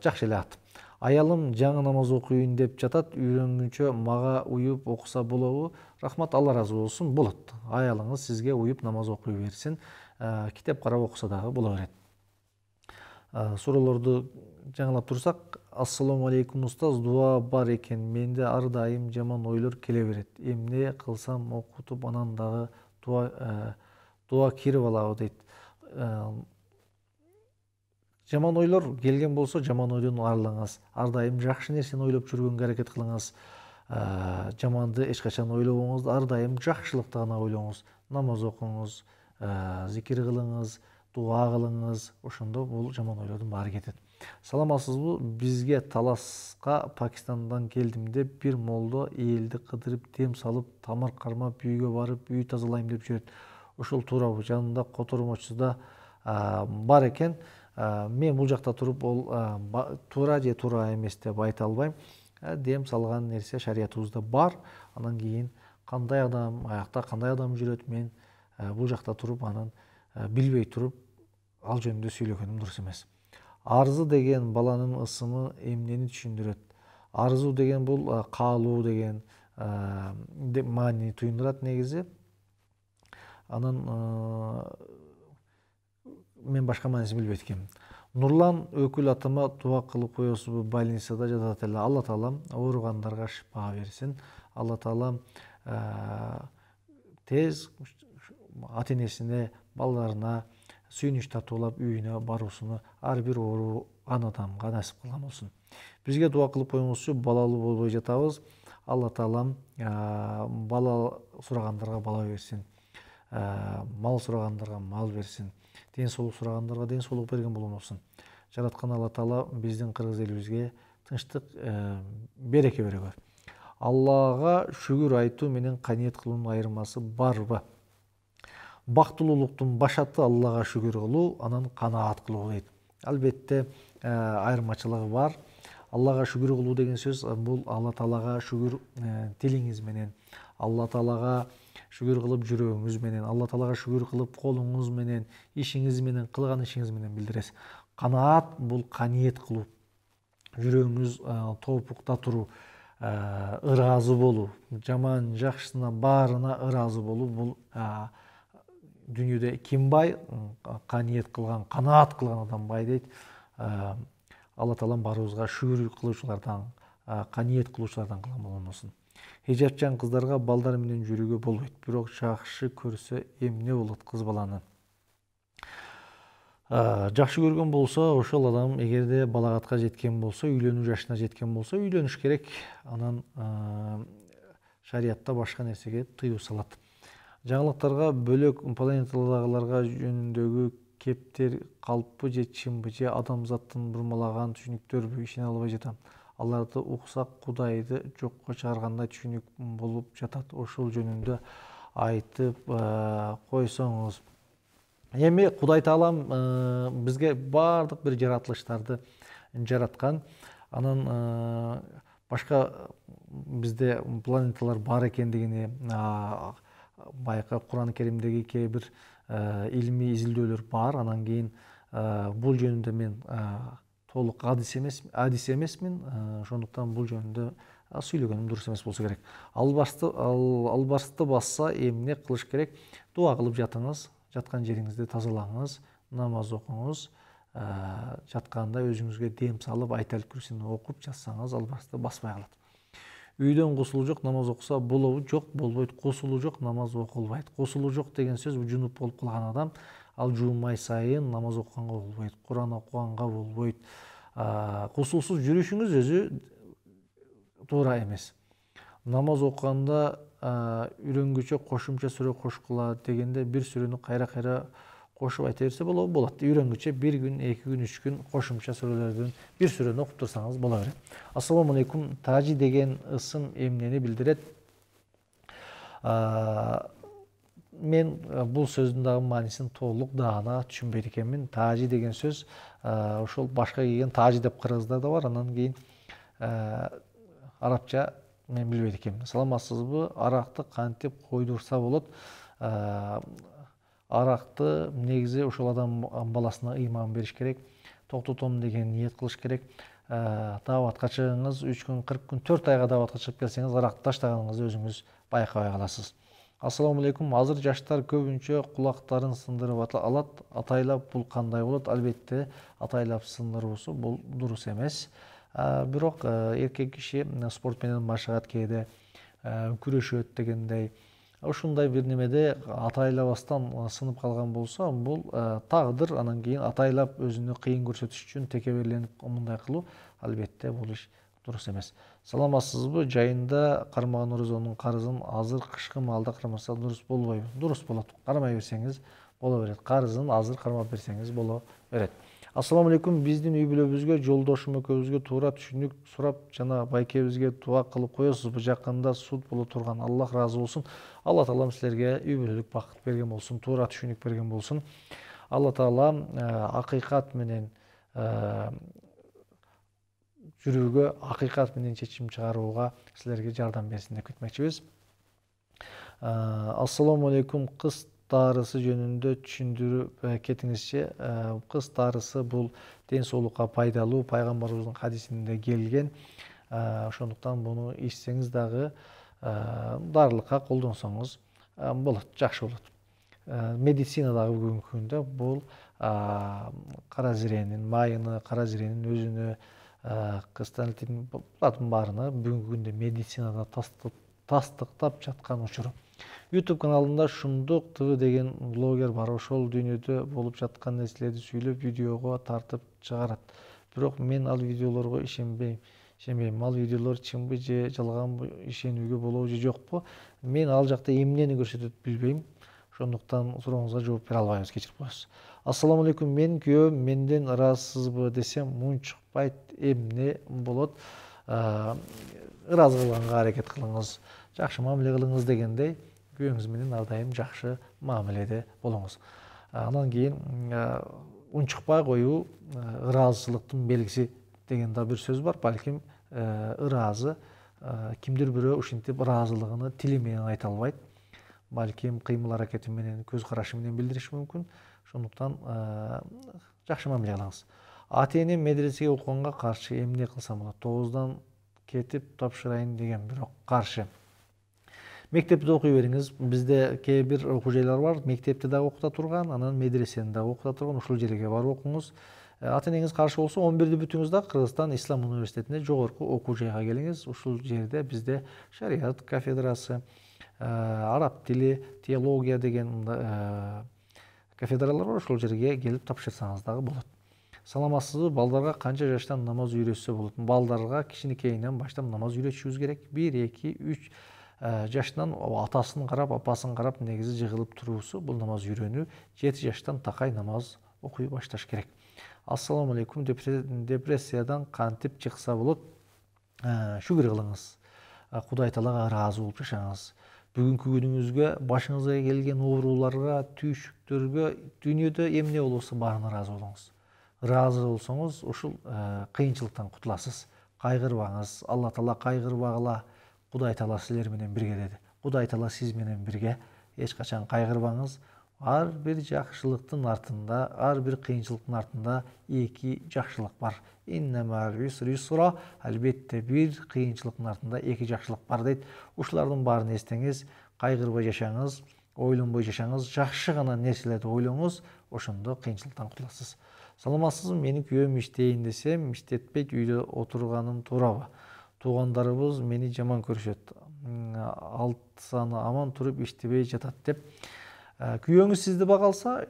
жакшы эле ат. Аялым жаңы намаз окуйын деп жатат, үйрөнгүнчө мага уюп окуса болобу? Рахмат, Алла разы болсун. Болот. Аялыңыз сизге уюп намаз окуй берсин. Китеп карап окуса дагы боло берет. Суроолорду жаңылап турсак, ассаламу алейкум устаз, дуа бар экен. Менде ар дайым жаман ойлор келе берет. Эмне кылсам окутуп анан дагы дуа кирип алабы дейт. Жаман ойлор келген болсо, жаман ойдон арылыңыз. Ар дайым жакшы нерсени ойлоп жүргөнгө аракет кылыңыз. Жаманды эч качан ойлобоңуз, ар дайым жакшылыкты гана ойлоңуз. Намаз окуңуз, зикир кылыңыз, дуа кылыңыз. Ошондо бул жаман ойлордун баары кетет. Саламатсызбы? Бизге таласка Пакистандан келдим деп бир молдо элди кыдырып, дем салып, тамыр кармап, үйгө барып, үй тазалайм деп жүрөт. Ошол туурабы? Жанында котормочусу да бар экен. Мен бул жакта туруп, ол туура же туура эмес деп айта албайм. Дем салган нерсе шариятыбызда бар. Анан кийин кандай адам, аякта кандай адам жүрөт, мен бул жакта туруп, анан билбей туруп, ал жөнүндө сүйлөгөнүм дурус эмес. Арзы деген баланын ысымы эмнени түшүндүрөт? Арзу деген бул каалоо деген маанини туюндурат негизи. Анан мен башка маанисин билбейт экенмин. Нурлан өкүл атама дуа кылып коесузбу? Больницада жатат эле. Алла Таалам ооругандарга шифа берсин. Алла Таалам тез ата энесине, балдарына сүйүнүч татуулап үйүнө баруусуну ар бир ооруган адамга насип кылган болсун. Бизге дуа кылып коюңузчу, балалуу болбой жатабыз. Алла Таалам бала сурагандарга бала берсин. Мал сурагандарга мал берсин. Ден соолук сурагандарга ден соолук берген болсун. Жараткан Алла Таала биздин кыргыз элибизге тынчтык, береке беребер. Аллага шүгүр айтуу менен каниет кылуунун айырмасы барбы? Бактылуулуктун башаты Аллага шүгүр кылуу, анан канаат кылуу дейт. Албетте айырмачылыгы бар. Аллага шүгүр кылуу деген сөз бул Алла Таалага шүгүр тилиңиз менен, Алла Таалага шүгүр кылып жүрөгүңүз менен, Алла Таалага шүгүр кылып колуңуз менен, ишиңиз менен, кылган ишиңиз менен билдиресиз. Канаат бул каниет кылуу, жүрөгүңүз тоопукта туруу, ыраазы болуу, жаман жакшысына баарына ыраазы болуу. Бул дүйнөдө ким бай? Каниет кылган, канаат кылган адам бай дейт. Алла Таалам баарыбызга шүгүр кылуучулардан, каниет кылуучулардан кылган болсун. Хижапчан кыздарга балдар менен жүрүүгө болбойт, бирок жакшы көрсө эмне болот кыз баланы? Жакшы көргөн болсо, ошол адам эгерде балагатка жеткен болсо, уйлөнүү жашына жеткен болсо, уйлөнүш керек. Анан шариятта башка нерсеге тыюу салат. Жаңылыктарга бөлөк планетадагыларга жөнүндөгү кептер калппы же чынбы, же адамзаттын бурмалаган түшүнүктөрбү? Ишене албай жатам. Аларды уксак Кудайды жокко чыгаргандай түшүнүк болуп жатат. Ошол жөнүндө айтып койсоңуз. Эми Кудай Таалам бизге баардык бир жаратылыштарды жараткан. Анан башка бизде планеталар бар экендигини байка Куран Керимдеги кээ бир илимий изилдөөлөр бар. Анан кийин бул жөнүндө мен толук адис эмесмин. Ошондуктан бул жөнүндө сүйлөгөнүм дурус эмес болсо керек. Албасты басса эмне кылыш керек? Дуа кылып жатыңыз, жаткан жериңизди тазалаңыз, намаз окуңуз. Жатканда өзүңүзгө дем салып, айтал күрсүнү окуп жатсаңыз албасты баспай калат. Үйдөн кусулу жок намаз окуса болобу? Жок, болбойт. Кусулу жок намаз окулбайт. Кусулу жок деген сөз жунуп болуп калган адам ал жуунмай сайын намаз окуганга болбойт, Куран окуганга болбойт. Кусулсуз жүрүшүңүз өзү туура эмес. Намаз окуганда үйрөнгүчө кошумча сүрө кошкула дегенде бир сүрөнү кайра кошуп айта берсе болот. Үйрөнгүчө 1 күн, 2 күн, 3 күн кошумча сүрөлөрдөн бир сүрөнү окуп турсаңыз боло берет. Ассаламу алейкум. Тажи деген ысым эмнени билдирет? Мен бул сөздүн дагы маанисин толук даана түшүнбөйт экенмин. Тажи деген сөз ошол башка кийген тажи деп кыргыздар да бар. Анан кийин арабча мен билбейт экенмин. Саламатсызбы? Аракты кантип койдурса болот? Аракты негизи ошол адам баласына ыйман бериш керек. Токтотом деген ниет кылыш керек. Дааватка чыгыңыз, 3 күн, 40 күн, 4 айга дааватка чыгып келсеңиз, аракты таштаганыңызды өзүңүз байкабай каласыз. Ассаламу алейкум. Азыр жаштар көбүнчө кулактарын сындырып алат. Атайлап бул кандай болот? Албетте, атайлап сындыруусу бул дурус эмес. Бирок эркек киши спорт менен машыгат кээде күрөшөт дегендей. Ушундай бир немеде атайлабастан сынып калган болсо, бул тагдыр. Анан кийин атайлап өзүнү кыйын көрсөтүш үчүн текеберленип мындай кылуу албетте бул иш дурус эмес. Саламатсызбы? Жайында кармаган орозонун карызын азыр кышкы маалда кармаса дурус болбойбу? Дурус болот. Кармай берсеңиз боло берет. Карызын азыр кармап берсеңиз боло берет. Ассаламу алейкум. Биздин үй бүлөбүзгө, жолдошум экөөбүзгө туура түшүнүк сурап жана байкебизге дуа кылып коесузбу? Жакында суд боло турган. Аллах ыраазы болсун. Алла таалам силерге үй бүлөлүк бакыт берген болсун, туура түшүнүк берген болсун. Алла таалам акыйкат менен жүрүүгө, акыйкат менен чечим чыгарууга силерге жардам берсин деп кетмекчибиз. Ассаламу алейкум. Кыз дарысы жөнүндө түшүндүрүп кетиңизчи. Кыз дарысы бул ден соолукка пайдалуу, пайгамбарыбыздын хадисинде келген. Ошондуктан буну ичсеңиз дагы дарылыкка колдонсоңуз болот, жакшы болот. Медицина дагы бүгүнкү күндө бул кара зиренин майыны, кара зиренин өзүнө, кыстантин булардын баарына бүгүнкү күндө медицинада тастыктап жаткан учуру. YouTube каналында Шундук ТВ деген блогер бар. Ошол дүйнөдө болуп жаткан нерселерди сүйлөп, видеого тартып чыгарат. Бирок мен ал видеолорго ишенбейм. Ал видеолор чынбы же жалганбы, ишенүүгө болобу же жокпу? Мен ал жакта эмнени көрсөтөт билбейм. Ошондуктан сурооңузга жооп бере албайбыз, кечирип коесуз. Ассаламу алейкум. Мен күйөөм менден ыраазысызбы десем мунчукпайт. Эмне болот? Ыраазы кылганга аракет кылыңыз, жакшы мамиле кылыңыз дегендей, күйөөңүз менен ар дайым жакшы мамиледе болуңуз. Анан кийин унчукпай коюу ыраазычылыктын белгиси деген да бир сөз бар. Балким ыраазы кимдир бирөө ушинтип ыраазылыгын тили менен айта албайт. Балким кыймыл аракети менен, көз карашы менен билдириши мүмкүн. Ошондуктан жакшы мамиле кылыңыз. Ата-энем медресеге окуганга каршы, эмне кылсам болот? 9-дан кетип тапшырайын деген, бирок каршы. Мектепте окуй бериңиз. Бизде кээ бир окуу жайлар бар. Мектепте дагы окута турган, анан медресени дагы окута турган. Ушул жерге барып окуңуз. Ата-энеңиз каршы болсо, 11-ди бүтүңүз да Кыргызстан Ислам университетине жогорку окуу жайга келиңиз. Ушул жерде бизде шарият кафедрасы, араб тили, теология деген кафедралар бар. Ошол жерге келип тапшырсаңыз дагы болот. Саламатсызбы? Балдарга канча жаштан намаз үйрөтсө болот? Балдарга кичинекейинен баштап намаз үйрөтүшүбүз керек. 1, 2, 3 жаштан атасын карап, апасын карап негизи жыгылып туруусу бул намаз үйрөнүү. 7 жаштан такай намаз окуй башташ керек. Ассаламу алейкум. Депрессиядан кантип чыкса болот? Шүгүр кылыңыз. Кудай таалага ыраазы болуп жашаңыз. Бүгүнкү күнүңүзгө, башыңызга келген ооруларга, түйшүктөргө дүйнөдө эмне болобу баарына ыраазы болуңуз. Ыраазы болсоңуз, ушул кыйынчылыктан кутуласыз. Кайгырбаңыз. Алла таала кайгырбагыла, Кудай таала силер менен бирге деди. Кудай таала сиз менен бирге. Эч качан кайгырбаңыз. ар бир жакшылыктын артында, ар бир кыйынчылыктын артында эки жакшылык бар. Албетте бир кыйынчылыктын артында эки жакшылык бар дейт. Ушулардын баарын эстеңиз, кайгырбай жашаңыз, ойлонбой жашаңыз, жакшы гана нерселерди ойлоңуз, ошондо кыйынчылыктан кутуласыз. Саламатсызбы? Менин күйөөм иштейин десем, иштетпейт, үйдө отурганым туурабы? Туугандарыбыз мени жаман көрүшөт. Алт саны аман туруп иштебей жатат деп. Күйөөңүз сизди бага алса,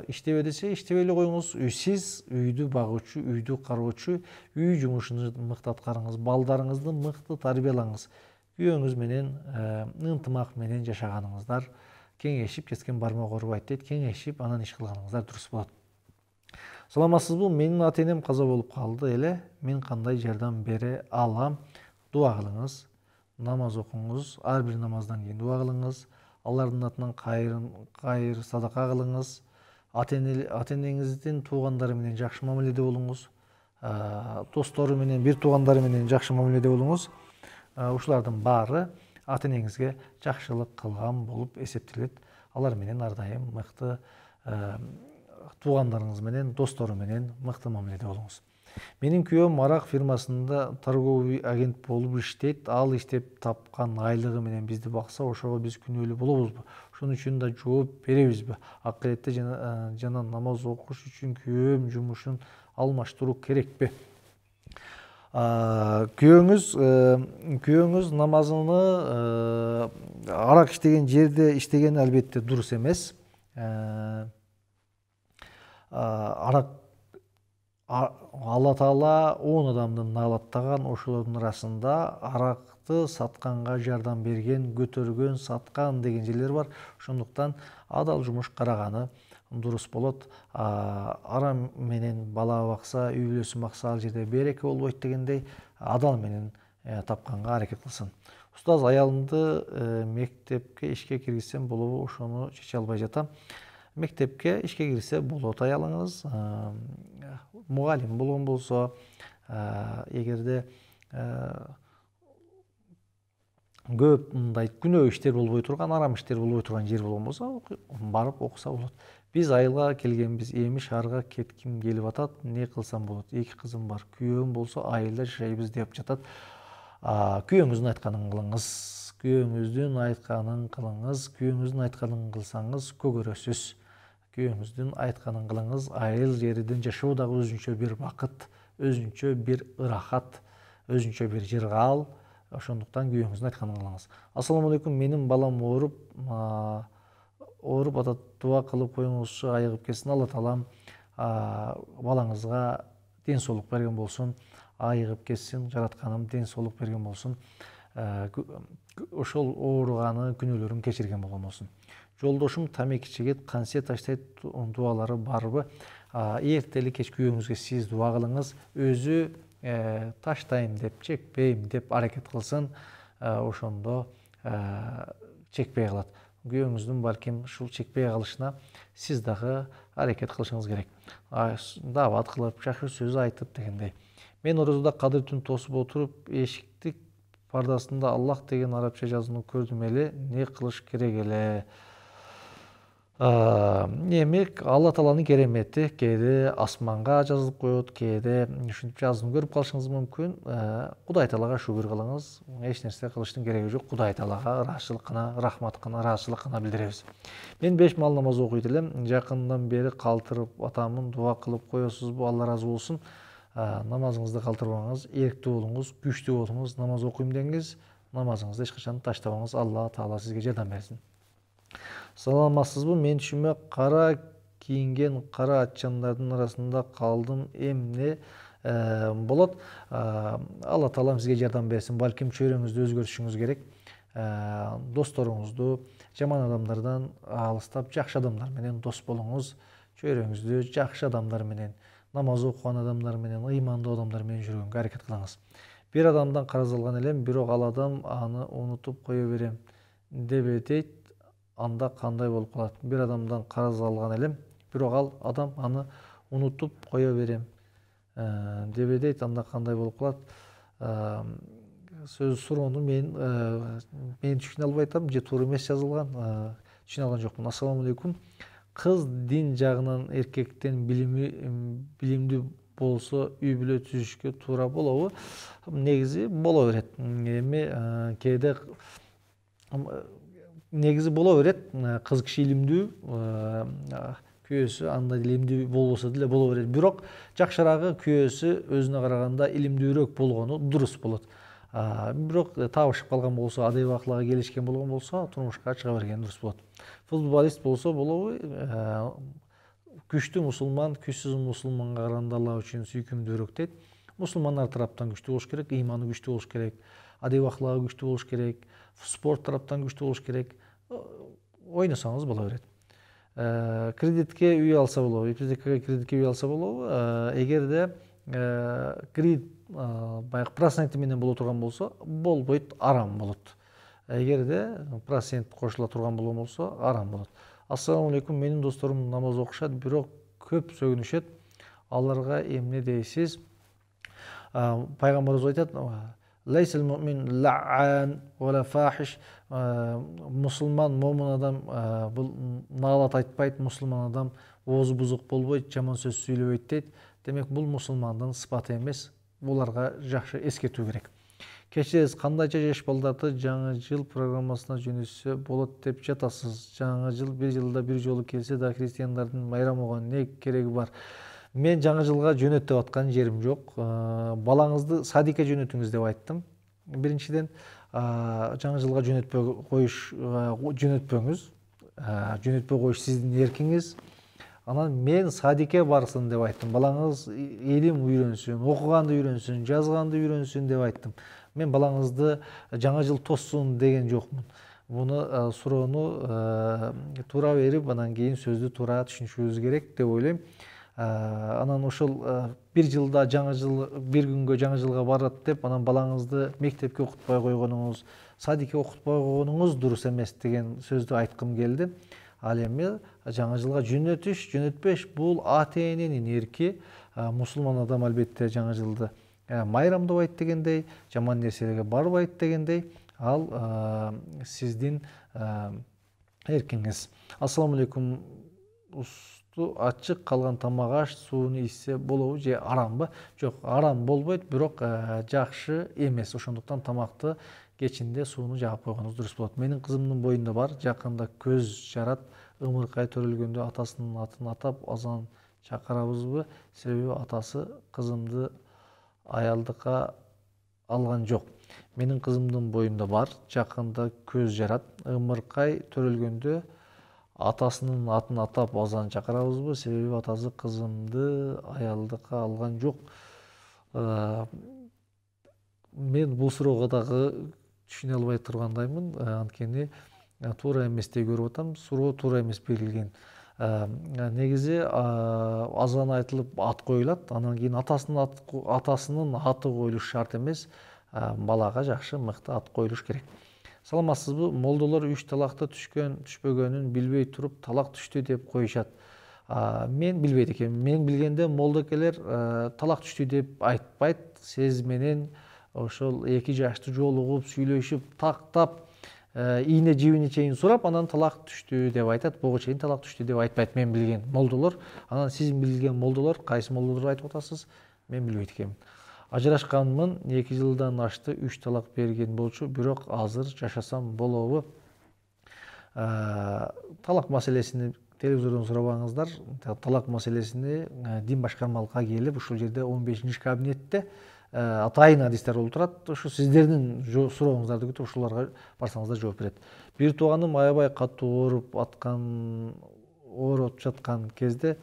иштебе десе, иштебей эле коюңуз. Сиз үйдү багуучу, үйдү кароочу, үй жумушуңузду мыкты аткарыңыз, балдарыңызды мыкты тарбиялаңыз. Күйөөңүз менен ынтымак менен жашаганыңыздар, кеңешип, кеткен бармак оорубайт дейт, кеңешип, анан иш кылганыңыздар дурус болот. Саламатсызбы? Менин ата-энем каза болуп калды эле. Мен кандай жардам бере алам? Дуа кылыңыз, намаз окуңуз, ар бир намаздан кийин дуа кылыңыз, алардын атынан кайыр садака кылыңыз, ата-энеңиздин туугандары менен жакшы мамиледе болуңуз, достору менен, бир туугандары менен жакшы мамиледе болуңуз. Ушулардын баары ата-энеңизге жакшылык кылган болуп эсептелет. Алар менен ар дайым мыкты, туугандарыңыз менен, достору менен мыкты мамиледе болуңуз. Менин күйөөм арак фирмасында торговый агент болуп иштейт. Ал иштеп тапкан айлыгы менен бизди бакса, ошого биз күнөөлүү болобузбу? Ошон үчүн да жооп беребизби? Акыретте жана намаз окуш үчүн күйөөм жумушун алмаштыруу керекпи? Күйөөңүз намазыны арак иштеген жерде иштеген албетте дурус эмес. Арак Алла Таала 10 адамды наалаттаган, ошолордун арасында аракты сатканга жардам берген, көтөргөн, саткан деген жерлер бар. Ошондуктан адал жумуш караганы дурус болот. Арам менен бала бакса, үй бүлөсүн бакса, ал жерде береке болбойт дегендей, адал менен тапканга аракет кылсын. Устаз, аялымды мектепке ишке киргизсем болобу? Ошону чече албай жатам. Мектепке ишке кирсе болот аялыңыз. Мугалим болгон болсо, эгерде көп мындай күнөө иштер болбой турган, арам иштер болбой турган жер болгон болсо, барып окуса болот. Биз айылга келгенбиз, эми шаарга кетким келип атат, эмне кылсам болот? 2 кызым бар, күйөөм болсо айылда жашайбыз деп жатат. Күйөөңүздүн айтканын кылыңыз, күйөөңүздүн айтканын кылыңыз, күйөөңүздүн айтканын кылсаңыз көгөрөсүз. Күйөөңүздүн айтканын кылыңыз. Айыл жерден жашоо дагы өзүнчө бир бакыт, өзүнчө бир ырахат, өзүнчө бир жыргал. Ошондуктан күйөөңүздүн айтканын кылыңыз. Ассаламу алейкум, менин балам ооруп атат, дуа кылып коюңузчу, айыгып кетсин. Алла Таалам балаңызга ден соолук берген болсун, айыгып кетсин, жаратканым ден соолук берген болсун. Ошол ооруганы, күнөөлөрүн кечирген болгон болсун. Жолдошум тамеки чегет, консет таштайт, дуалары барбы? Эртели кеч күйөөңүзгө сиз дуа кылыңыз. Өзү таштайм деп, чекпейм деп аракет кылсын. Ошондо чекпей калат. Күйөөңүздүн балким ушул чекпей калышына сиз дагы аракет кылышыңыз керек. Даават кылып, жакшы сөз айтып дегендей. Мен орозодо кадыр түн тосуп отуруп, эшикти пардасында Аллах деген арабча жазууну көрдүм эле. Не кылыш керек эле? Эмек Алла Тааланын керемети, кээде асманга жазылып коет, кээде ушинтип жазууну көрүп калышыңыз мүмкүн. Кудай Таалага шүгүр кылыңыз. Эч нерсе кылыштын кереги жок. Кудай Таалага ыраазычылык гана, рахмат гана, ыраазычылык гана билдиребиз. Мен 5 маал намаз окуйт элем. Жакындан бери калтырып атамын. Дуа кылып коесузбу? Алла ыраазы болсун. Намазыңызды калтырбаңыз, эрктүү болуңуз, күчтүү болуңуз, намаз окуйм деңиз, намазыңызды эч качан таштабаңыз. Алла Таала сизге жардам берсин. Саламатсызбы? Мен түшүмө кара кийинген кара атчандардын арасында калдым. Эмне болот? Алла Таалам сизге жардам берсин. Балким чөйрөңүздү өзгөртүшүңүз керек. Досторуңузду жаман адамдардан алыстап, жакшы адамдар менен дос болуңуз. Чөйрөңүздү жакшы адамдар менен, намаз окуган адамдар менен, ыймандуу адамдар менен жүргөнгө аракет кылыңыз. Бир адамдан карыз алган элем, бирок ал адам аны унутуп кое берем деп дейт. Анда кандай болуп калат? Бир адамдан карыз алган элем, бирок ал адам аны унутуп кое берем деп дейт. Анда кандай болуп калат? Сөз суроону мен түшүнө албай атам, же туура эмес жазылган. түшүнө алган жокмун. Ассаламу алейкум. Кыз дин жагынан эркектен билимдүү болсо үй бүлө түзүшкө туура болобу? Негизи боло берет. Эми кээде негизи боло берет. Кыз киши илимдүү, күйөөсү андай илимдүү болбосо деле боло берет. Бирок жакшыраагы күйөөсү өзүнө караганда илимдүүрөөк болгону дурус болот. Бирок табышып калган болсо, адайып акылга келишкен болгон болсо, турмушка чыга берген дурус болот. Футболист болсо болобу? Күчтүү мусулман күчсүз мусулманга караганда Алла үчүн сүйкүмдүүрөөк дейт. Мусулмандар тараптан күчтүү болуш керек, ыйманы күчтүү болуш керек, адайып акылы күчтүү болуш керек, спорт тараптан күчтүү болуш керек. Ойносоңуз боло берет. Кредитке үй алса болобу? Ипотекага кредитке үй алса болобу? Эгерде кредит баягы проценти менен боло турган болсо, болбойт, арам болот. Эгерде процент кошула турган болгон болсо, арам болот. Ассаламу алейкум. Менин досторум намаз окушат, бирок көп сөгүнүшөт. Аларга эмне дейсиз? Пайгамбарыбыз айтат: "Лейсел муъмин ла'ан вала фахиш". Мусулман, момун адам бул наалат айтпайт, мусулман адам оозу бузук болбойт, жаман сөз сүйлөбөйт дейт. Демек, бул мусулмандын сыпаты эмес. Буларга жакшы эскертүү керек. Кечиресиз, кандайча жаш балдарды жаңы жыл программасына жөнөтсө болот деп жатасыз? Жаңы жыл бир жылда бир жолу келсе да, христиандардын байрамыга эмне кереги бар? Мен жаңы жылга жөнөт деп аткан жерим жок. Балаңызды садикке жөнөтүңүз деп айттым. Биринчиден, жаңы жылга жөнөтпөй жөнөтпөңүз. Жөнөтпөй коюш сиздин эркиңиз. Анан мен садикке барсын деп айттым. Балаңыз илим үйрөнсүн, окуганды үйрөнсүн, жазганды үйрөнсүн деп айттым. Мен балаңызды жаңы жыл тоссун деген жокмун. Буну суроону туура берип, анан кийин сөздү туура түшүнүшүбүз керек деп ойлойм. Анан ошол бир жылда жаңы жыл, бир күнгө жаңы жылга барат деп, анан балаңызды мектепке окутпай койгонуңуз, садикке окутпай койгонуңуз дурус эмес деген сөздү айткым келди. Ал эми жаңы жылга жөнөтүш, жөнөтпеш бул ата-эненин эрки. Мусулман адам албетте жаңы жылды майрамдабайт дегендей, жаман нерселерге барбайт дегендей, ал сиздин эркиңиз. Ассаламу алейкум. Усту ачык калган тамак аш сууну ичсе болобу же арамбы? Жок, арам болбойт, бирок жакшы эмес. Ошондуктан тамакты кечинде сууну жаап койгонуңуз дурус болот. Менин кызымдын боюнда бар, жакында көз жарат, ымыркай төрөлгөндө атасынын атын атап азан чакырабызбы? Себеби атасы кызымды аялдыкка алган жок. Менин кызымдын боюнда бар, жакында көз жарат, ымыркай төрөлгөндө атасынын атын атап азан чакырабызбы? Себеби атасы кызымды аялдыкка алган жок. Мен бул суроого дагы түшүнө албай тургандаймын, анткени туура эместей көрүп атам. Суроо туура эмес берилген. Негизи азан айтылып ат коюлат, анан кийин атасынын аты коюлуш шарт эмес. Балага жакшы, мыкты ат коюлуш керек. Саламатсызбы? Молдолор 3 талакты түшпөгөнүн билбей туруп талак түштү деп коюшат. Мен билбейт экенмин. Мен билгенде молдокелер талак түштү деп айтпайт. Сиз менен ошол 2 жаштуу жолугуп, сүйлөшүп, тактап, ийне жибине чейин сурап, анан талак түштү деп айтат. Буга чейин талак түштү деп айтпайт мен билген молдолор. Анан сиз билген молдолор, кайсы молдолор айтып атасыз? Мен билбейт экенмин. Ажырашканмын, 2 жылдан ашты, 3 талак берген болчу, бирок азыр жашасам болобу? Талак маселесини телевизордон сурабаңыздар. Талак маселесини дин башкармалыкка келип, ушул жерде 15-чи кабинетте атайын адистер болуп турат. Ушу сиздердин сурооңуздарды күтүп, ушуларга барсаңыздар жооп берет. Бир тууганым аябай катуу ооруп жаткан кезде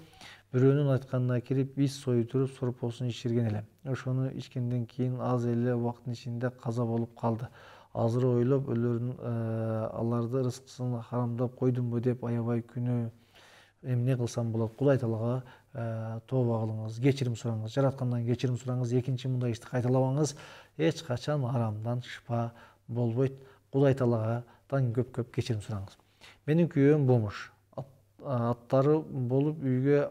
бирөөнүн айтканына кирип, ис сойдуруп, сорпосун ичирген элем. Ошону ичкенден кийин аз эле убакыттын ичинде каза болуп калды. Азыр ойлоп, аларды рызкысын харамдап койдумбу деп аябай күнөө. Эмне кылсам болот? Кудай Таалага тооба кылыңыз, кечирим сураңыз, жараткандан кечирим сураңыз, экинчи мындай ишти кайталабаңыз. Эч качан арамдан шыпа болбойт. Кудай Таалагадан көп-көп кечирим сураңыз. Менин күйөөм бомуш. Аттары болуп үйгө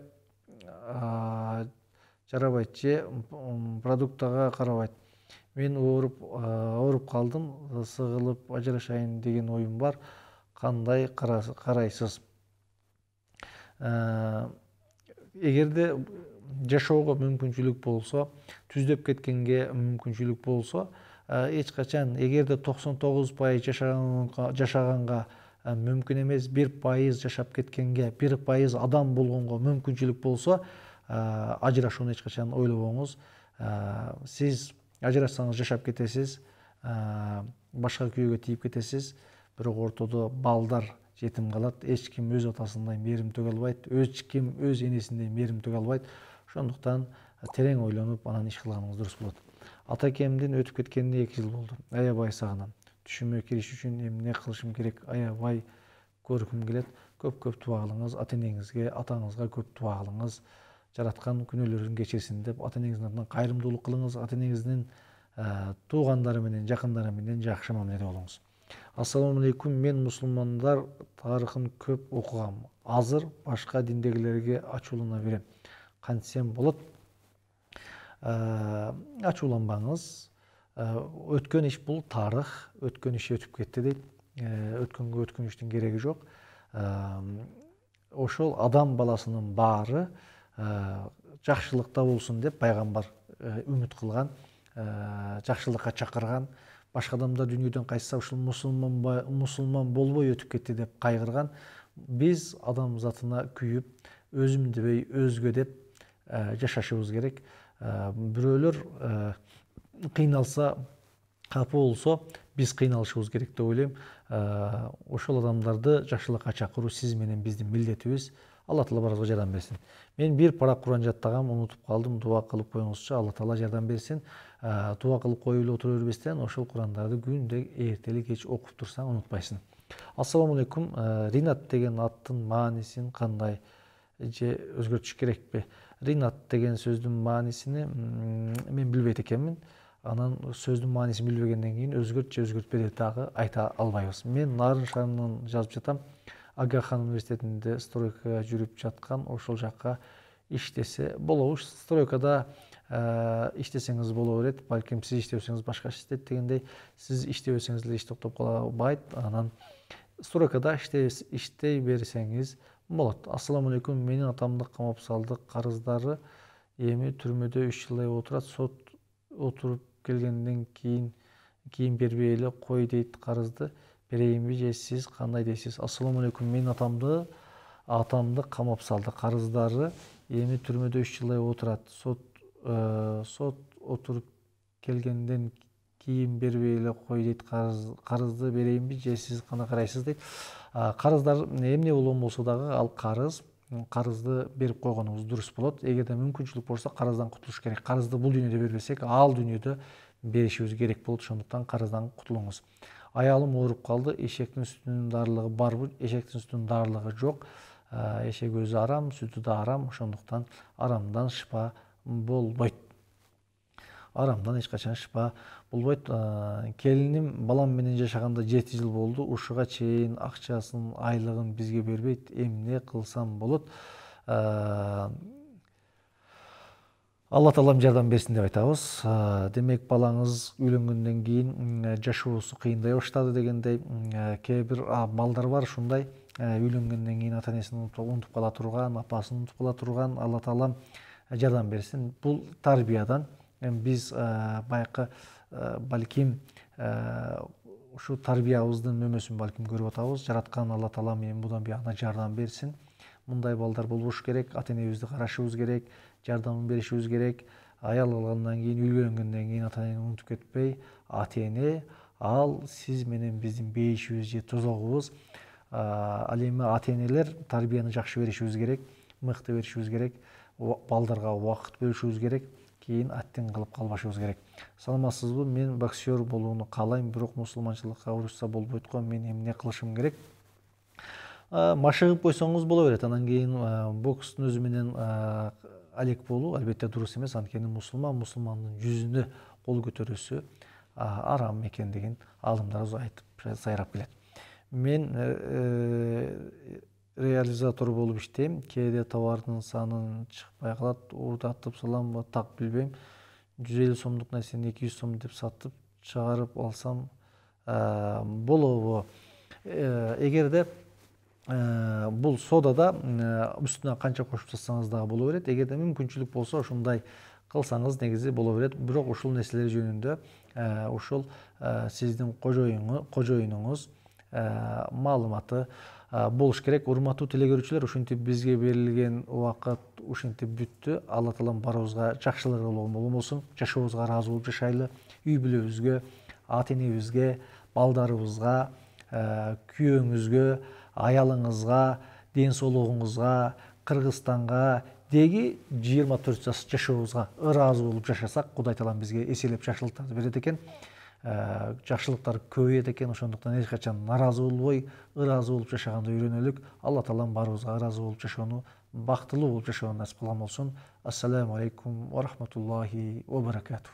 жарабайт же продуктага карабайт. Мен ооруп калдым, сыгылып ажырашайын деген оюм бар. кандай карайсыз? Эгерде жашоого мүмкүнчүлүк болсо, түздөп кеткенге мүмкүнчүлүк болсо, эч качан эгерде 99% жашаганга мүмкүн эмес, 1% жашап кеткенге, 1% адам болгонго мүмкүнчүлүк болсо, ажырашууну эч качан ойлобоңуз. Сиз ажырашсаңыз жашап кетесиз, башка күйөөгө тийип кетесиз, бирок ортодо балдар жетим калат. Эч ким өз атасындай мээрим төгө албайт, эч ким өз энесиндей мээрим төгө албайт. Ошондуктан терең ойлонуп, анан иш кылганыңыз дурус болот. Атакемдин өтүп кеткенине 2 жыл болду. Аябай сагынам. Түшүмө кириш үчүн эмне кылышым керек? Аябай көргүм келет. Көп дуа кылыңыз, ата-энеңизге, атаңызга көп дуа кылыңыз. Жараткан күнөөлөрүн кечирсин деп ата-энеңиздин атынан кайрымдуулук кылыңыз. Ата-энеңиздин туугандары менен, жакындары менен жакшы мамиледе болуңуз. Ассаламу алейкум. Мен мусулмандар тарыхын көп окугам. Азыр башка диндегилерге ачуулана берем. Кантсем болот? Ачууланбаңыз. Өткөн иш бул тарых, өткөн иш өтүп кетти дейт. Өткөнгө өткөнүштүн кереги жок. Ошол адам баласынын баары жакшылыкта болсун деп пайгамбар үмүт кылган, жакшылыкка чакырган. Башка адамдар дүйнөдөн кайтса ушул мусулман болбой өтүп кетти деп кайгырган. Биз адам затына күйүп, өзүм дебей өзгө деп жашашыбыз керек. Бирөөлөр кыйналса, капа болсо, биз кыйналышыбыз керек деп ойлойм. Ошол адамдарды жакшылыкка чакыруу сиз менен биздин милдетибиз. Алла Таала баарыбызга жардам берсин. Мен бир парак Куран жаттагам, унутуп калдым. Дуа кылып коюңузчу, Алла Таала жардам берсин. Дуа кылып коюп эле отура бербестен, ошол Курандарды күндө эртели кеч окуп турсаң унутпайсың. Ассаламу алейкум. Ринат деген аттын маанисин кандай же өзгөртүш керекпи? Ринат деген сөздүн маанисини мен билбейт экенмин. Анан сөздүн маанисин билбегенден кийин өзгөрт же өзгөртпө деп дагы айта албайбыз. Мен Нарын шаарынан жазып жатам. Агахан университетинде стройкага жүрүп жаткан, ошол жакка иштесе болобу? Стройкада иштесеңиз боло берет. Балким сиз иштебесеңиз башка иштейт дегендей, сиз иштебесеңиз деле иш токтоп калбайт. Анан стройкада иштей берсеңиз болот. Ассаламу алейкум. Менин атамды камап салды. Карыздары эми түрмөдө 3 жылдай отурат. Сот отуруп келгенден кийин бербей эле кой дейт. Карызды берейинби же сиз кандай дейсиз? Ассаламу алейкум. Менин атамды камап салды. Карыздары эми түрмөдө 3 жылдай отурат. Сот отуруп келгенден кийин бербей эле кой дейт. Карызды берейинби же сиз кандай карайсыз дейт. Карыздар эмне болгон болсо дагы ал карызды берип койгонуңуз дурус болот. Эгерде мүмкүнчүлүк болсо карыздан кутулуш керек. Карызды бул дүйнөдө бербесек, ал дүйнөдө беришибиз керек болот. Ошондуктан карыздан кутулуңуз. Аялым ооруп калды. Эшектин сүтүнүн дарылыгы барбы? Эшектин сүтүнүн дарылыгы жок. Эшек өзү арам, сүтү да арам. Ошондуктан арамдан шыпа болбойт. Арамдан эч качан шыпа болбойт. Келиним балам менен жашаганда 7 жыл болду. Ушуга чейин акчасын, айлыгын бизге бербейт. Эмне кылсам болот? Алла Таалам жардам берсин деп айтабыз. Демек, балаңыз үйлөнгөндөн кийин жашоосу кыйындай баштады дегендей, кээ бир балдар бар ушундай үйлөнгөндөн кийин ата-энесин унутуп кала турган, апасын унутуп кала турган. Алла Таалам жардам берсин. Бул тарбиядан биз байкы балким ушу тарбиябыздын мөмөсүн балким көрүп атабыз. Жараткан Алла Таалам эми будан буягына жардам берсин. Мындай балдар болбош керек. Ата-энебизди карашыбыз керек, жардам беришибиз керек. Аял алгандан кийин, үйлөнгөндөн кийин ата-энени унутуп кетпей, ата-эне ал сиз менен биздин бейишибиз же тозогубуз. Ал эми ата-энелер тарбияны жакшы беришибиз керек, мыкты беришибиз керек, балдарга убакыт бөлүшүбүз керек, кийин аттен кылып калбашыбыз керек. Саламатсызбы? Мен боксер болууну каалайм, бирок мусулманчылыкка урушса болбойт го. Мен эмне кылышым керек? Машыгып койсоңуз боло берет. Анан кийин бокстун өзү менен алек болуу албетте дурус эмес. Анткени мусулмандын жүзүнө кол көтөрүүсү арам экендигин аалымдарыбыз айтып сайрап келет. Мен реализатор болуп иштейм. Кээде товардын санын чыкпай калат. Уурдатып салам, так билбейм. 150 сомдук нерсени 200 сом деп сатып чыгарып алсам болобу? эгерде бул содада үстүнө канча кошуп жатсаңыз дагы боло берет. Эгерде мүмкүнчүлүк болсо ушундай кылсаңыз негизи боло берет. Бирок ушул нерселер жөнүндө ушул сиздин кожоюнуңуз маалыматы болуш керек. Урматтуу теле көрүүчүлөр, ушинтип бизге берилген убакыт ушинтип бүттү. Алла таалам баарыбызга жакшылыгы болсун. Жашообузга ыраазы болуп жашайлы. Үй бүлөбүзгө, ата энебизге, балдарыбызга, күйөөңүзгө, аялыңызга, ден соолугуңузга, Кыргызстанга деги 24 жаш жашообузга ыраазы болуп жашасак, Кудай таалам бизге эселеп жакшылыктарды берет экен. Жакшылыктар көбөйөт экен. Ошондуктан эч качан наразы болбой, ыраазы болуп жашаганды үйрөнөлүк. Алла таалам баарыбызга ыраазы болуп жашоону, бактылуу болуп жашоону насип кылган болсун. Ассаламу алейкум ва рахматуллахи ва баракатух.